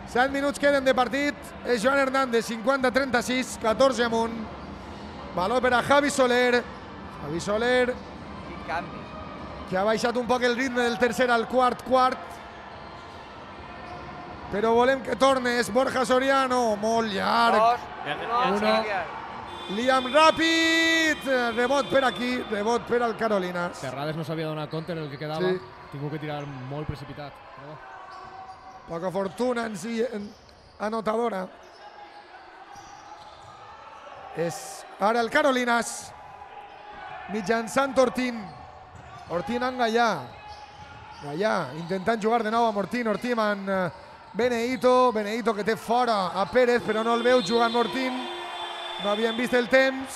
7 minuts queden de partit. És Joan Hernández, 50-36, 14 amunt. Valor per a Javi Soler. Javi Soler, Quin canvi. que ha baixat un poc el ritme del tercer al quart. però volem que tornes. Borja Soriano, molt llarg. 2, 1, Liam Ràpid, rebot per aquí, rebot per al Carolinas. Terrades no s'havia donat compte del que quedava. Sí. Tingut que tirar molt precipitat. Poca fortuna en si anotadora. És ara el Carolinas, mitjançant Ortín. Ortín en Gallà. Gallà intentant jugar de nou amb Ortín. Ortín amb Benedito. Benedito que té fora a Pérez, però no el veu jugar amb Ortín. No havien vist el temps.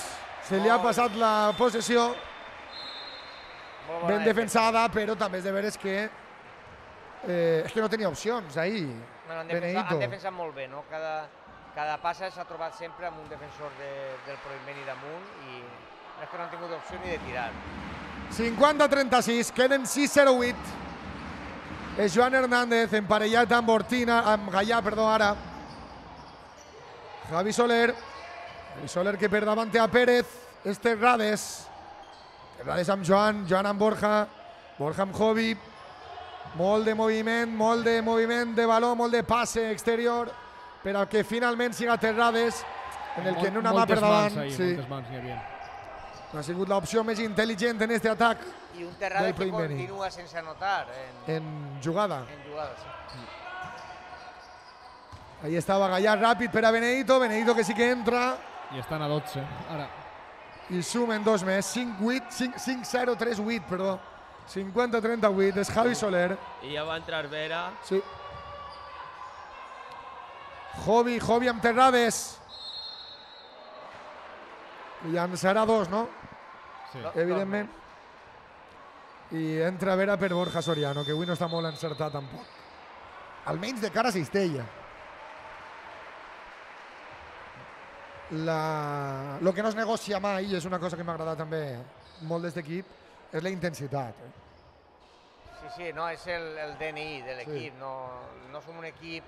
Se li ha passat la possessió. Ben defensada, però també és de veres que és que no tenia opcions ahir. Han Benedito. defensat molt bé, no? Cada passa s'ha trobat sempre amb un defensor del Proinveni damunt i és que no han tingut opció ni de tirar. 50-36, queden 6-0-8. És Joan Hernández emparellat amb Ortina, amb Gallà, perdó, ara. Javi Soler. Javi Soler que per davant té a Pérez. És Terrades. Terrades amb Joan, Joan amb Borja. Borja amb Jovi. Molt de moviment de baló, molt de passe exterior, per al que finalment siga Terrades, en el que en una mà per davant. Moltes mans n'hi havia. Ha sigut l'opció més intel·ligent en aquest atac. I un Terrades que continua sense anotar en jugada. En jugada, sí. Ahí estava Gallà ràpid per a Benedito. Benedito que sí que entra. I estan a 12, ara. I sumen dos més. 5-0-3-8, perdó. 50-38, és Javi Soler. I ja va entrar Vera. Sí. Jovi amb Terrades. Llançarà dos, no? Sí. Evidentment. I entra Vera per Borja Soriano, que avui no està molt encertat tampoc. Almenys de cara a Cistella. Lo que no es negocia mai, és una cosa que m'ha agradat també molt d'aquest equip, és la intensitat. Sí, no, és el DNI de l'equip. No som un equip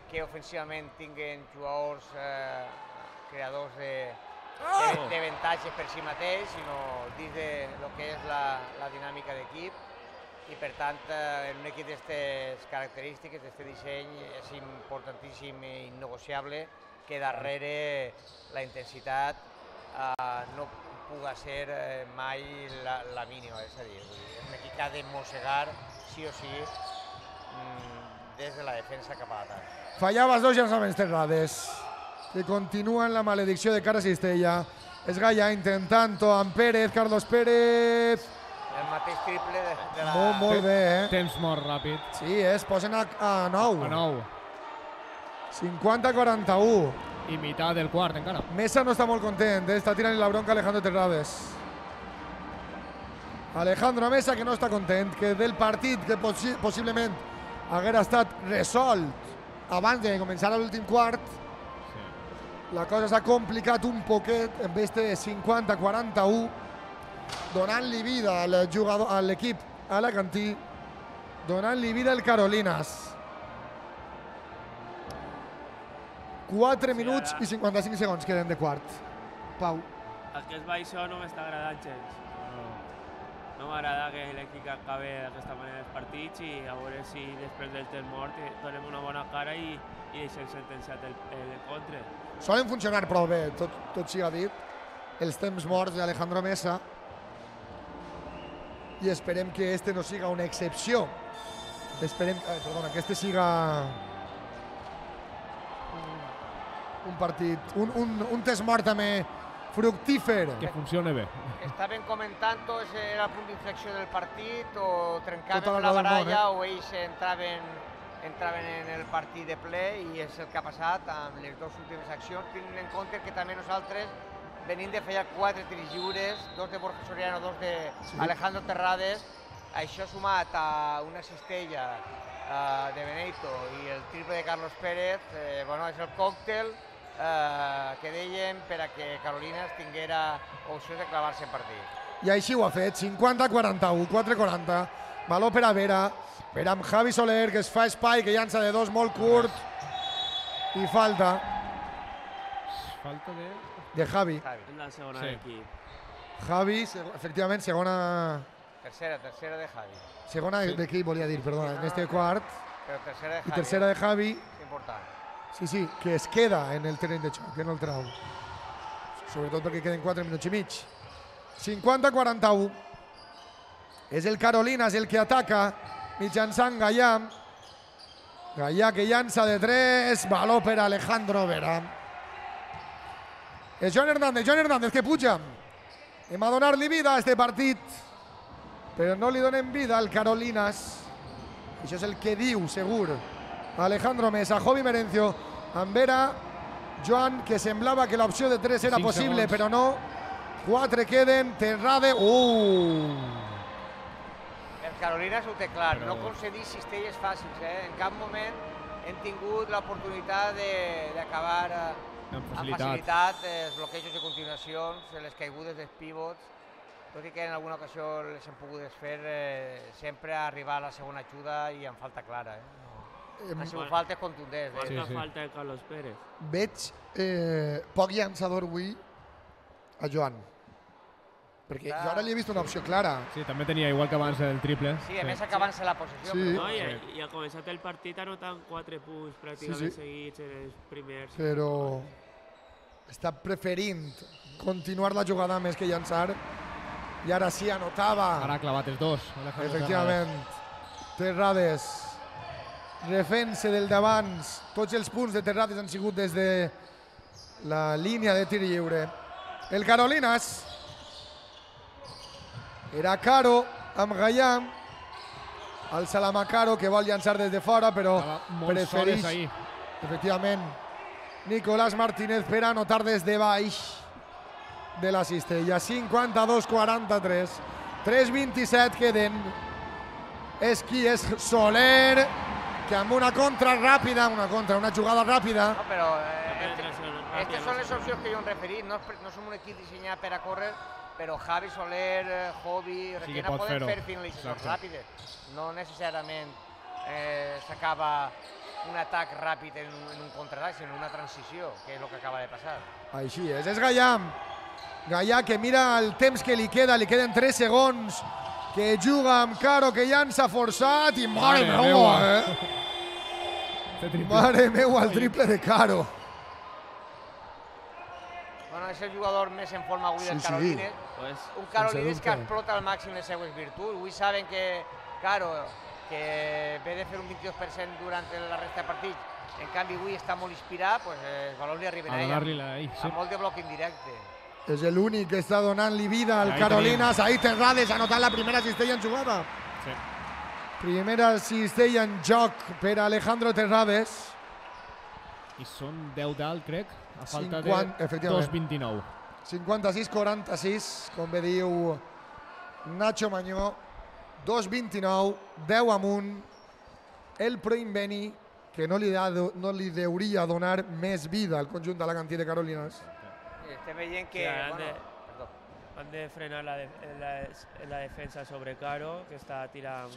que ofensivament tinguin jugadors creadors d'avantatges per si mateix, sinó dins de lo que és la dinàmica d'equip. I per tant, en un equip d'aquestes característiques, d'aquest disseny, és importantíssim i innegociable que darrere la intensitat no puga ser mai la mínima. És a dir, és un equip que ha de mossegar sí o sí des de la defensa cap a l'atac. Fallava els dos llançaments Terrades, que continuen la maledicció de cara a Cistella. És Gallà intentant-ho amb Pérez, Carlos Pérez. El mateix triple de la... Molt bé, Temps mort ràpid. Sí, es posen a 9. A 9. 50-41. I meitat del quart, encara. Mesa no està molt content, està tirant la bronca Alejandro Terrades. Alejandro Mesa que no està content, que del partit que possiblement haguera estat resolt abans de començar l'últim quart, la cosa s'ha complicat un poquet en este 50-41, donant-li vida a l'equip alacantí, donant-li vida al Carolinas. 4 minuts i 55 segons queden de quart. Pau. Aquest baixó no m'està agradant gens. No m'agrada que l'equip acabi d'aquesta manera els partits i a veure si després del temps mort donem una bona cara i deixem sentenciat l'encontre. Solen funcionar prou bé, tot siga dit, els temps morts d'Alejandro Mesa, i esperem que este no siga una excepció. Esperem, que este siga un partit, un test mort també fructífer. Que funcione bé. Estaven comentant-ho, era el punt d'inflexió del partit, o trencaven Tota la la baralla, o ells entraven en el partit de ple, i és el que ha passat amb les dues últimes accions, tenint en compte que també nosaltres venim de fallar 4 tirs lliures, 2 de Borja Soriano, 2 d'Alejandro Terrades. Això sumat a una cistella de Benedito i el triple de Carlos Pérez, és el còctel que dèiem per a que Carolinas tinguera opcions de clavar-se en partit. I així ho ha fet, 50-41, 4-40, valor per a Vera, Vera amb Javi Soler, que es fa espai, que llança de dos molt curt, i falta. Falta de Javi. En la segona d'equip. Javi, efectivament, segona Tercera de Javi. Segona de qui volia dir, perdona, en este quart. Però tercera de Javi. I tercera de Javi. És important. Sí, que es queda en el terreny de xoc, que no el trau. Sobretot perquè queden 4 minuts i mig. 50-41. És el Carolinas el que ataca mitjançant Gallà. Gallà que llança de 3, valor per Alejandro Vera. És Joan Hernández que puja. Hem a donar-li vida a este partit, però no li donem vida al Carolinas. Això és el que diu, segur, Alejandro Mesa. Jovi Merencio, amb Vera, Joan, que semblava que l'opció de 3 era possible, però no. 4 queden, Terrade. El Carolinas ho té clar, no concedir cistelles fàcils. En cap moment hem tingut l'oportunitat d'acabar amb facilitat els bloquejos de continuacions, les caigudes dels pivots, tot i que en alguna ocasió les hem pogut desfer, sempre arribar a la segona ajuda i amb falta clara. Han sigut faltes contundents. Marca falta de Carlos Pérez. Veig poc llançador avui a Joan, perquè jo ara li he vist una opció clara. Sí, també tenia igual que abans el triple. Sí, a més acabant-se la possessió. I ha començat el partit anotant 4 punts pràcticament seguits en els primers. Però està preferint continuar la jugada més que llançar. I ara sí, anotava. Ara ha clavat els dos. Efectivament. Terrades. Refent-se del d'abans. Tots els punts de Terrades han sigut des de la línia de tir lliure. El Carolinas. Era Caro amb Gallà. El Salamacaro que vol llançar des de fora, però prefereix. Efectivament. Nicolás Martínez per anotar des de baix de la cistella. 52-43. 3-27 queden. És qui és Soler, que amb una contra ràpida, una jugada ràpida. No, però aquestes són les opcions que jo hem referit. No som un equip dissenyat per a córrer, però Javi Soler, Jovi, Requena poden fer finalitzacions ràpides. No necessàriament s'acaba un atac ràpid en un contraatac, sinó una transició, que és el que acaba de passar. Així és Gallà. Gallà que mira el temps que li queden 3 segons, que juga amb Caro, que llança forçat i mare meua, Mare meua, el triple de Caro. Bueno, és el jugador més en forma avui del Carolines. Un Carolines que explota al màxim les seues virtuts. Avui saben que Caro, que ve de fer un 22% durant la resta de partits, en canvi avui està molt inspirat, els valors li arriben a ella. Amb molt de bloc indirecte. És l'únic que està donant-li vida al Carolinas. Ahí Terrades ha anotat la primera cistella en jugada. Primera cistella en joc per Alejandro Terrades. I són 10 dalt, crec, a falta de 2-29. 56-46, com bé diu Nacho Mañó. 2-29, 10 amunt. El Proinbeni, que no li deuria donar més vida al conjunt de la cantí de Carolinas. Estem veient que... Han de frenar la defensa sobre Caro, que està tirant...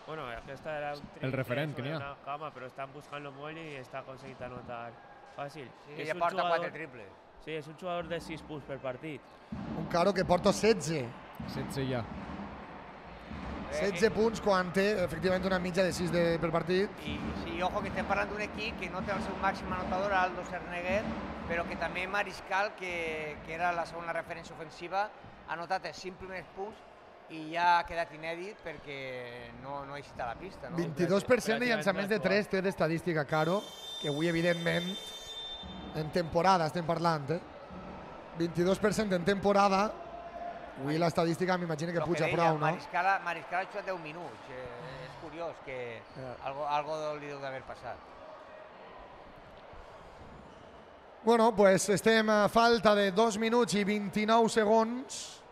Bueno, aquesta era el referent que n'hi ha. Però estan buscant-lo molt i està aconseguint anotar fàcil. Sí, ja porta 4 triples. Sí, és un jugador de 6 punts per partit. Un Caro que porta 16. 16 ja. 16 punts quan té, efectivament, una mitja de 6 per partit. I ojo que estem parlant d'un equip que no té el seu màxim anotador, Aldo Cerneguet, però que també Mariscal, que era la segona referència ofensiva, ha anotat els 5 primers punts i ja ha quedat inèdit perquè no ha eixit a la pista. 22% de llançaments de 3 té d'estadística Caro, que avui, evidentment, en temporada estem parlant, 22% en temporada. Avui l'estadística m'imagino que puja prou, no? Mariscal ha jugat 10 minuts. És curiós que algo li deu d'haver passat. Bueno, pues estem a falta de 2 minuts i 29 segons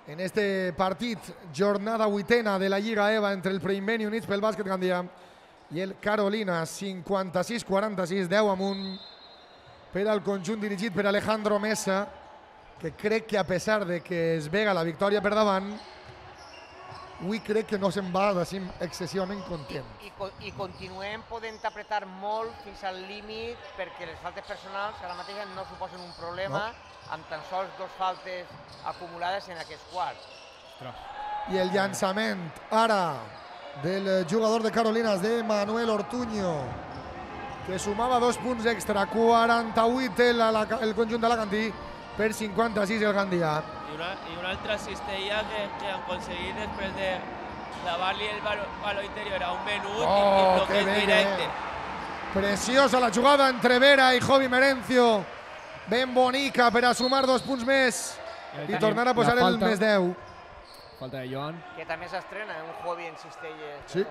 en este partit, jornada 8ena de la Lliga EVA entre el Proinbeni Units pel Bàsquet Gandia i el Carolinas. 56-46, 10 amunt per al conjunt dirigit per Alejandro Mesa, que crec que a pesar de que es vega la victòria per davant, avui crec que no se'n va d'ací excessivament content. I continuem podent apretar molt fins al límit perquè les faltes personals ara mateix no suposen un problema amb tan sols 2 faltes acumulades en aquests quarts. I el llançament ara del jugador de Carolinas, de Manuel Ortuño, que sumava 2 punts extra, 48 el conjunt d'Alacantí per 56 el Gandia. I una altra cistella que han aconseguit després de clavar-li el baló interior a un menut i bloqueig directe. Preciosa la jugada entre Vera i Jovi Merencio, ben bonica per a sumar 2 punts més i tornar a posar el més 10. Falta de Joan. Que també s'estrena un Jovi en cistelles. Sí.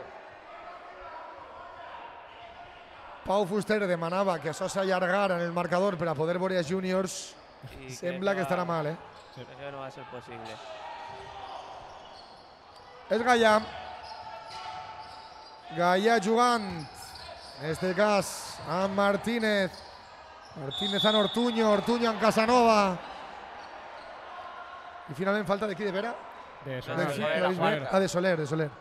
Pau Fuster demanava que això s'allargara en el marcador per a poder veure a júniors. Sembla que estarà mal, Sí. Crec que no va ser possible. És Gallà. Gallà jugant, en este cas, amb Martínez. Martínez amb Ortuño, Ortuño amb Casanova. I finalment falta de qui, de Vera? De Soler. De Soler, de Soler.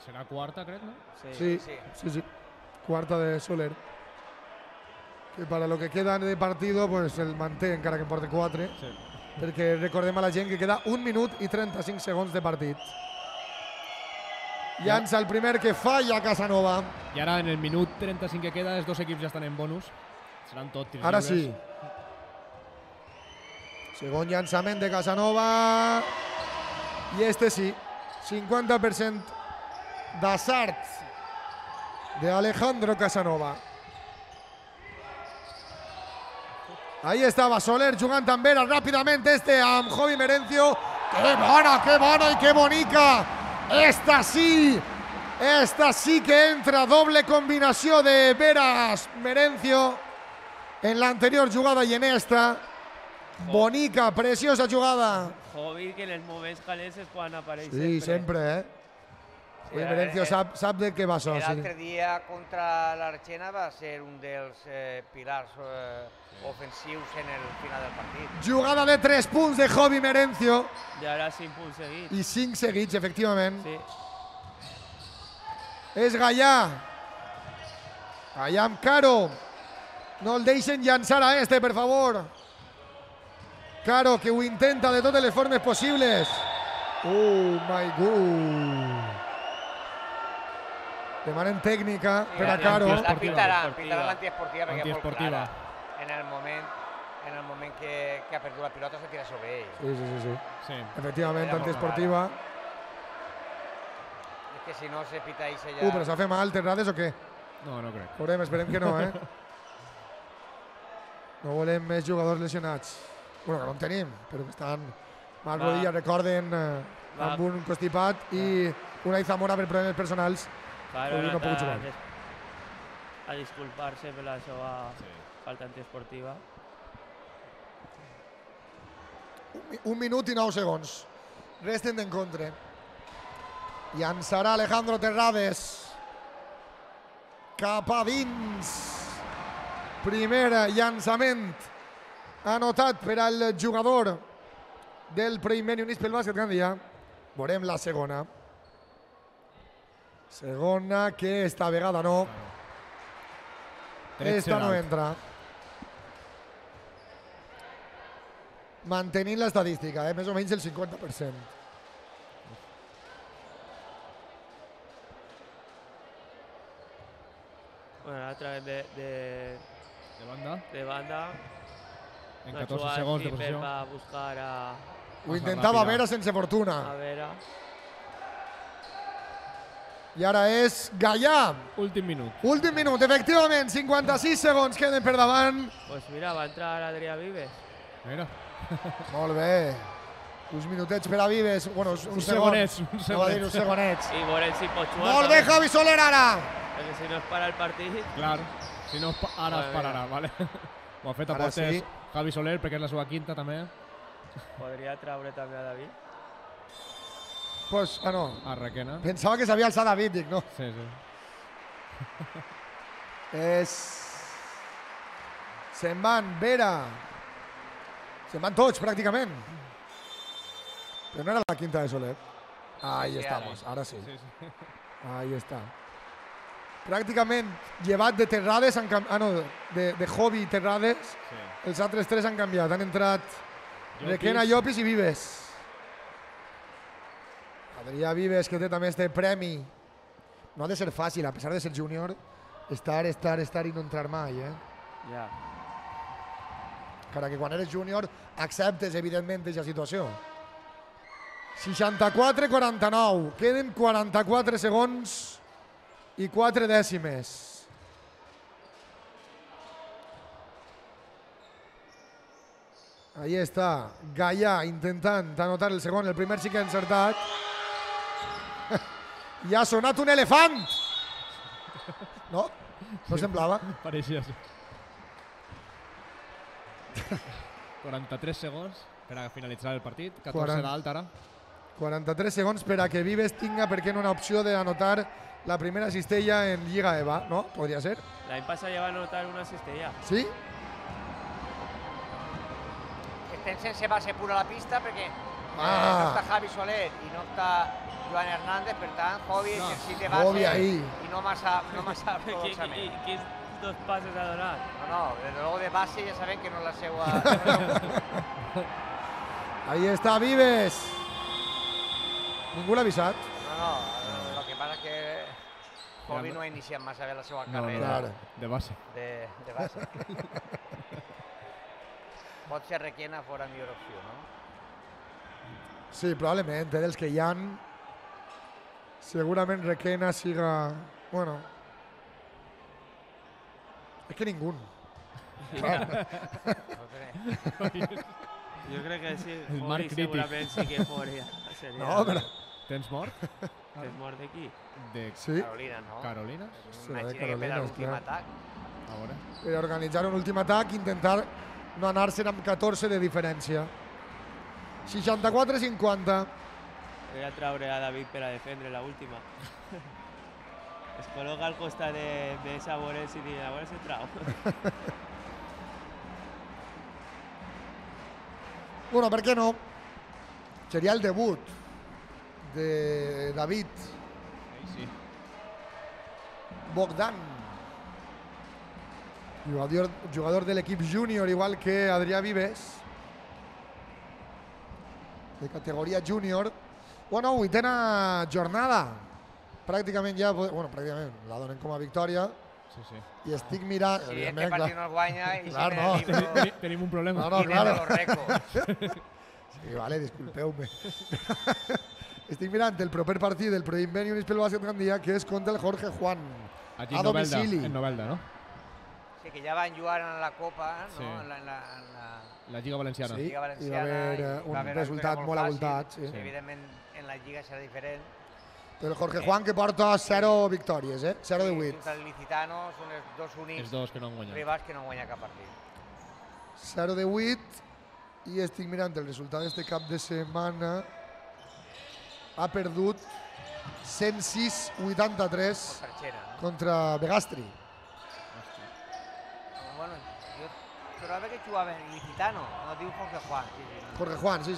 Serà quarta, crec, no? Sí. Quarta de Soler. Que para lo que queda de partido, pues el manté encara que en porta 4. Sí. Perquè recordem a la gent que queda 1 minut i 35 segons de partit. Llança el primer que falla Casanova. I ara, en el minut 35 que queda, els dos equips ja estan en bonus. Seran tot tirs Ara lliures. sí. Segon llançament de Casanova. I este sí. 50% d'assart de Alejandro Casanova. Ahí estaba Soler jugant amb Vera ràpidament amb Jovi Merencio. ¡Qué bona y qué bonica! Esta sí que entra, doble combinació de Veras Merencio en l'anterior jugada i en esta. Bonica, preciosa jugada. Jovi, que en els moments calents és quan apareix Sí, sempre, Jovi Merencio sap de què va això. L'altre dia contra l'Argena va ser un dels pilars ofensius en el final del partit. Jugada de 3 punts de Jovi Merencio. I ara 5 punts seguits. I 5 seguits, efectivament. Sí. És Gallà. Gallà amb Caro. No el deixen llançar a este, per favor. Caro, que ho intenta de totes les formes possibles. Oh my God. Demanen tècnica per a Caro. La pitaran l'antiesportiva perquè és molt clara. En el moment que ha perdut la pilota se tira sobre ell. Sí. Efectivament, antiesportiva. És que si no se pita ahí se ja... Però s'ha fet mal, Terrades o què? No, no crec. Veurem, esperem que no, No volem més jugadors lesionats. Bueno, que no en tenim, però que estan mal rodilla, recorden, amb un constipat i una Zamora per problemes personals. Claro, no puc jugar. A disculpar-se per la seva falta antiesportiva. 1 minut i 9 segons. Resten d'encontre. Llançarà Alejandro Terrades. Cap a dins. Primer llançament anotat per al jugador del Primer Units pel Bàsquet Gandia. Veurem la segona. Segona que esta vegada no. Esta no entra. Mantenint l'estadística, més o menys el 50%. Bueno, a través de banda. En 14 segons de posició. Va buscar a... Ho intentava Vera sense fortuna. A Vera. I ara és Gallà. Últim minut. Últim minut, efectivament. 56 segons queden per davant. Pues mira, va entrar Adrià Vives. Mira. Molt bé. Uns minutets per a Vives. Bueno, uns segonets. Uns segonets. I veurem si pot jugar. Molt bé, Javi Soler, ara. Perquè si no es para el partit... Clar. Si no, ara es pararà, vale? Ho ha fet a portes Javi Soler, perquè és la seva quinta, també. Podria traure també a David. Pues, no. A Requena. Pensava que s'havia alçat David, dic, no? Sí. Se'n van Vera. Se'n van tots, pràcticament. Però no era la quinta de Soler. Ahí estamos, ara sí. Ahí està. Pràcticament llevat de Terrades, de Jovi i Terrades, els altres tres han canviat. Han entrat Requena, Llopis i Vives. Adrià Vives, que té també este premi. No ha de ser fàcil, a pesar de ser júnior, estar i no entrar mai, Ja. Encara que quan eres júnior acceptes, evidentment, aquesta situació. 64-49. Queden 44 segons i 4 dècimes. Ahí està, Gaià intentant anotar el segon, el primer sí que ha encertat. I ha sonat un elefant! No? No semblava? Pareixia ser. 43 segons per a finalitzar el partit, 14 d'alt ara. 43 segons per a que Vives tinga, per què no, una opció d'anotar la primera cistella en Lliga EVA, no? Podria ser. L'any passat ja va anotar una cistella. Sí? Estem sense base pura a la pista perquè no està Javi Soler i no està Joan Hernández, per tant, Jovi necessita base i no massa ortodoxament. Quins dos passes ha donat? No, desde luego de base ja sabem que no és la seva... Ahí està Vives. Ningú l'ha avisat. No, el que passa és que Jovi no ha iniciat massa bé la seva carrera. De base. De base. Pot ser Requena fora millor opció, no? Sí, probablement, dels que hi ha, segurament Requena siga... Bueno... És que ningú. Jo crec que sí, Fori segurament sí que Fori. No, però... Tens mort? Tens mort de qui? Sí. Carolina, no? Carolina? Imagina que per a l'últim atac. A veure. Per organitzar un últim atac i intentar no anar-se'n amb 14 de diferència. 64-50. Voy a traure a David per a defendre la última. Es col·loca al costat de Saborés i diu, a veure si trau. Bueno, per què no? Seria el debut de David Bogdan, jugador de l'equip júnior, igual que Adrià Vives, de categoria júnior. Bueno, 8a jornada. Pràcticament ja, bueno, pràcticament la donen com a victòria. Sí. I estic mirant... Si este partit no el guanya i si en el libro... Tenim un problema. No, claro. los récords. Sí, vale, disculpeu-me. Estic mirant el proper partit del Proinvent Units pel Bàsquet Gandia, que és contra el Jorge Juan, a domicili. En Novelda, no? Sí, que ja van jugar en la Copa, no? Sí. En la Lliga Valenciana. Sí, Lliga Valenciana, i va haver un resultat molt abultat. Sí. Evidentment, en la Lliga serà diferent. El Jorge Juan, que porta 0 victòries, 0 de 8. Contra el Licitano són els dos únics Els dos que no han guanyat. rivals que no han guanyat cap partit. 0 de 8. I estic mirant el resultat d'este cap de setmana. Ha perdut 106-83 contra Begastri. Bueno, jo trobava que jugava en Licitano, no diu Jorge Juan. Jorge Juan, sí.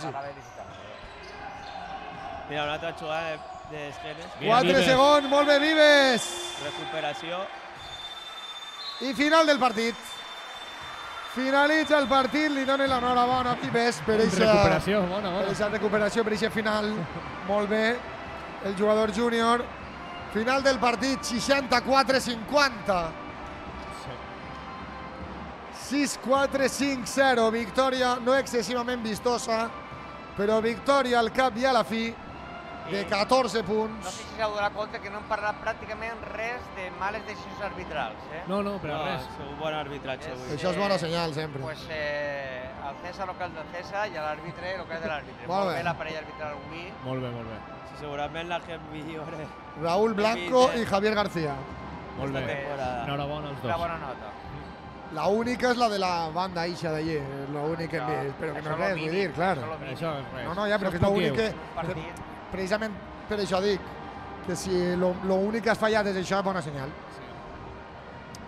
Mira, una altra jugada d'esquenes. 4 segons, molt bé, Vives! Recuperació. I final del partit. Finalitza el partit, li donen l'enhorabona a Vives per aquesta recuperació, per aquest final. Molt bé, el jugador júnior. Final del partit, 64-50. 6-4-5-0, victòria no excessivament vistosa, però victòria al cap i a la fi de 14 punts. No sé si s'heu donat compte que no hem parlat pràcticament res de males decisions arbitrals. No, però res. És un bon arbitratge avui. Això és bona senyal, sempre. Pues al César el que és del César i a l'àrbitre el que és de l'àrbitre. Molt bé la parella arbitral avui. Molt bé. Sí, segurament la que millor és. Raúl Blanco i Javier García. Molt bé. Enhorabona als dos. Una bona nota. La única és la de la banda eixa d'allí, l'únic que hem vist, però que no és res, vull dir, clar. Això és res. No, ja, però que és l'únic que... Precisament per això dic, que si l'únic que has fallat és això, bona senyal.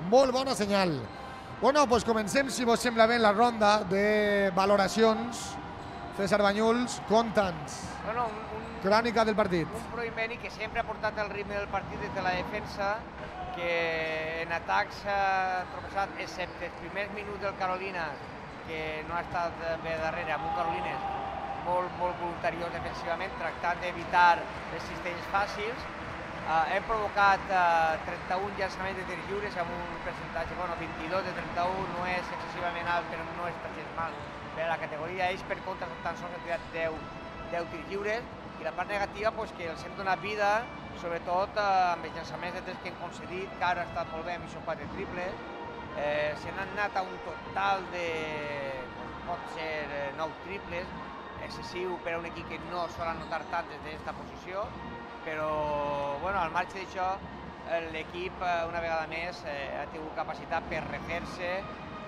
Molt bona senyal. Bueno, doncs comencem, si vos sembla bé, la ronda de valoracions. César Banyuls, conta'ns. Crònica del partit. Un Proinvent que sempre ha portat el ritme del partit des de la defensa, que en atac s'ha tropeçat, excepte els primers minuts del Carolina, que no ha estat bé darrere, amb un Carolines molt voluntariós defensivament, tractant d'evitar les cistells fàcils. Hem provocat 31 llançaments de tirs lliures amb un percentatge, 22 de 31, no és excessivament alt, però no és gens mal per a la categoria. Ells, per contra, tan sols han tirat 10 tirs lliures, i la part negativa que els hem donat vida, sobretot amb els llançaments de tres que hem concedit, que ara ha estat molt bé, amb això 4 triples. Se n'han anat a un total de, pot ser 9 triples, excessiu per a un equip que no sol anotar tant des d'aquesta posició, però al marge d'això l'equip una vegada més ha tingut capacitat per refer-se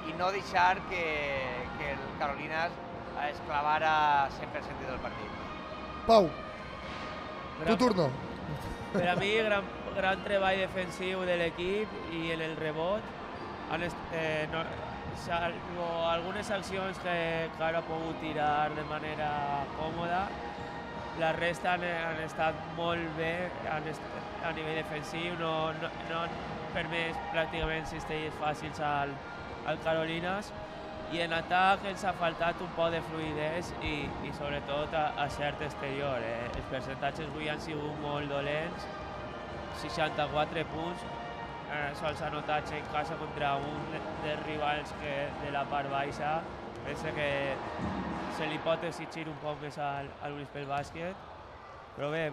i no deixar que el Carolinas es clavara 100% del partit. Pau, tu turno. Per a mi, gran treball defensiu de l'equip i en el rebot. Salvo algunes accions que ara ha pogut tirar de manera còmoda, la resta han estat molt bé a nivell defensiu, no han permès pràcticament cistells fàcils al Carolinas, i en atac ens ha faltat un poc de fluïdesa i sobretot a cert exterior. Els percentatges avui han sigut molt dolents, 64 punts, sols anotats en casa contra un dels rivals de la part baixa. Penso que se li pot exigir un poc més a l'Unispel Bàsquet, però bé,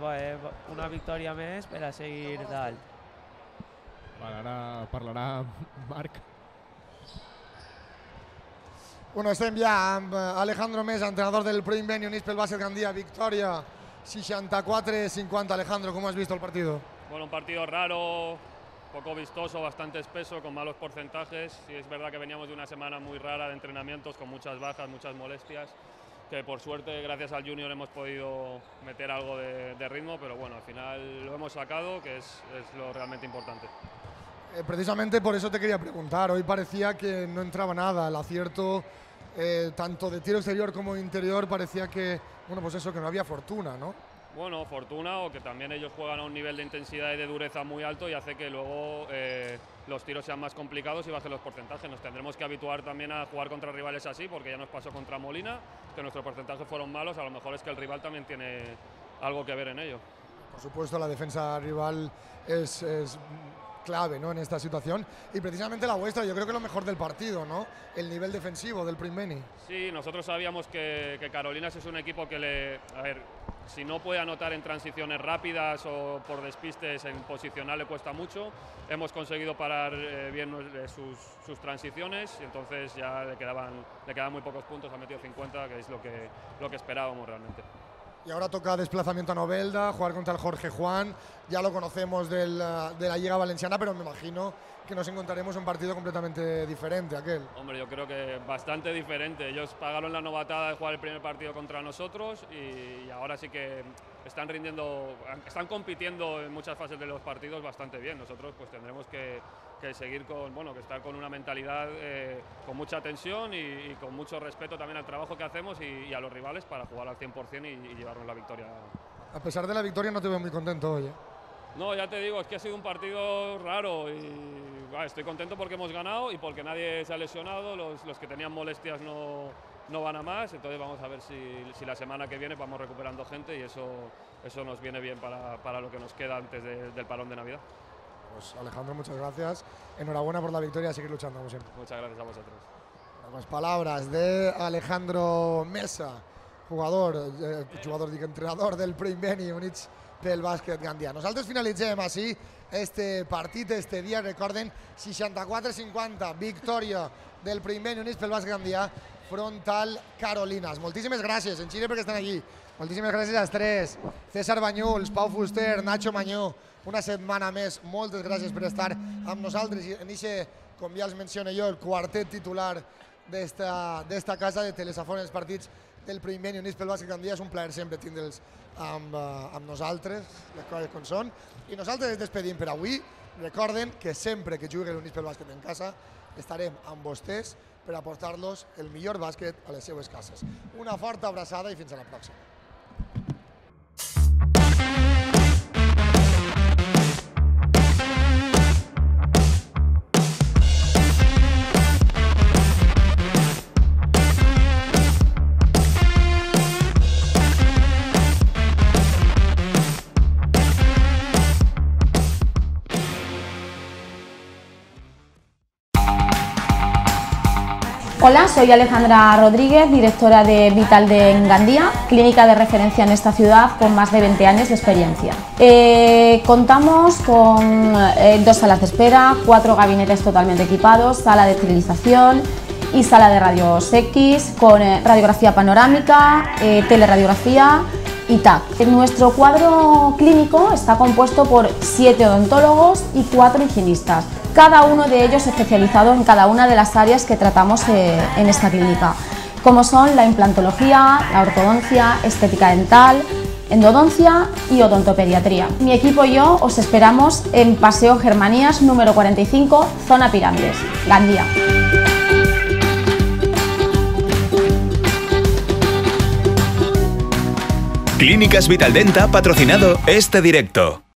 una victòria més per a seguir dalt. Ara parlarà Marc. Estem ja amb Alejandro Mesa, entrenador del Pro Invenio Unispel Básquet Gandía. Victoria 64-50. Alejandro, ¿cómo has visto el partido? Bueno, un partido raro, poco vistoso, bastante espeso, con malos porcentajes. Y es verdad que veníamos de una semana muy rara de entrenamientos, con muchas bajas, muchas molestias, que por suerte, gracias al Junior, hemos podido meter algo de ritmo, pero bueno, al final lo hemos sacado, que es lo realmente importante. Precisamente por eso te quería preguntar. Hoy parecía que no entraba nada. El acierto, tanto de tiro exterior como interior, parecía que, que no había fortuna, ¿no? Bueno, fortuna, o que también ellos juegan a un nivel de intensidad y de dureza muy alto y hace que luego los tiros sean más complicados y bajen los porcentajes. Nos tendremos que habituar también a jugar contra rivales así, porque ya nos pasó contra Molina, que nuestros porcentajes fueron malos. A lo mejor es que el rival también tiene algo que ver en ello. Por supuesto, la defensa rival es clave, ¿no?, en esta situación, y precisamente la vuestra, yo creo que lo mejor del partido, ¿no?, el nivel defensivo del Pro Invenio. Sí, nosotros sabíamos que Carolinas es un equipo que si no puede anotar en transiciones rápidas o por despistes en posicional le cuesta mucho. Hemos conseguido parar bien sus transiciones, y entonces ya le quedaban muy pocos puntos. Ha metido 50, que es lo que esperábamos realmente. Y ahora toca desplazamiento a Novelda, jugar contra el Jorge Juan. Ya lo conocemos de la Liga Valenciana, pero me imagino que nos encontraremos un partido completamente diferente, aquel. Hombre, yo creo que bastante diferente. Ellos pagaron la novatada de jugar el primer partido contra nosotros y ahora sí que están compitiendo en muchas fases de los partidos bastante bien. Nosotros pues tendremos que seguir que estar con una mentalidad con mucha tensión y con mucho respeto también al trabajo que hacemos y a los rivales para jugar al 100% y llevarnos la victoria. A pesar de la victoria no te veo muy contento hoy, ¿eh? No, ya te digo, es que ha sido un partido raro y estoy contento porque hemos ganado y porque nadie se ha lesionado. Los que tenían molestias no van a más, entonces vamos a ver si la semana que viene vamos recuperando gente y eso nos viene bien para lo que nos queda antes del parón de Navidad. Pues Alejandro, muchas gracias. Enhorabuena por la victoria, a seguir luchando como siempre. Muchas gracias a vosotros. Las palabras de Alejandro Mesa, entrenador del Pro Invenio Unispel Bàsquet Gandia. Nosaltres finalitzem així este partit, este dia. Recorden, 64-50, victòria del Pro Invenio Unispel Bàsquet Gandia front al Carolinas. Moltíssimes gràcies, en Xile, perquè estan aquí. Moltíssimes gràcies als tres. César Banyuls, Pau Fuster, Nacho Mañó. Una setmana més, moltes gràcies per estar amb nosaltres. I en aquest, com ja els menciono jo, el quartet titular d'esta casa de Telesafon, els partits del Pro Invenio Unispel Bàsquet Gandia. És un plaer sempre tindre'ls amb nosaltres, les coses com són. I nosaltres ens despedim per avui. Recorden que sempre que jugui l'Unispel Bàsquet en casa estarem amb vostès per aportar-los el millor bàsquet a les seues cases. Una forta abraçada i fins a la pròxima. Hola, soy Alejandra Rodríguez, directora de Vitaldent Gandía, clínica de referencia en esta ciudad con más de 20 años de experiencia. Contamos con 2 salas de espera, 4 gabinetes totalmente equipados, sala de esterilización y sala de rayos X con radiografía panorámica, teleradiografía y TAC. Nuestro cuadro clínico está compuesto por 7 odontólogos y 4 higienistas, cada uno de ellos especializado en cada una de las áreas que tratamos en esta clínica, como son la implantología, la ortodoncia, estética dental, endodoncia y odontopediatría. Mi equipo y yo os esperamos en Paseo Germanías número 45, zona Pirámides, Gandía. Clínicas Vitaldent ha patrocinado este directo.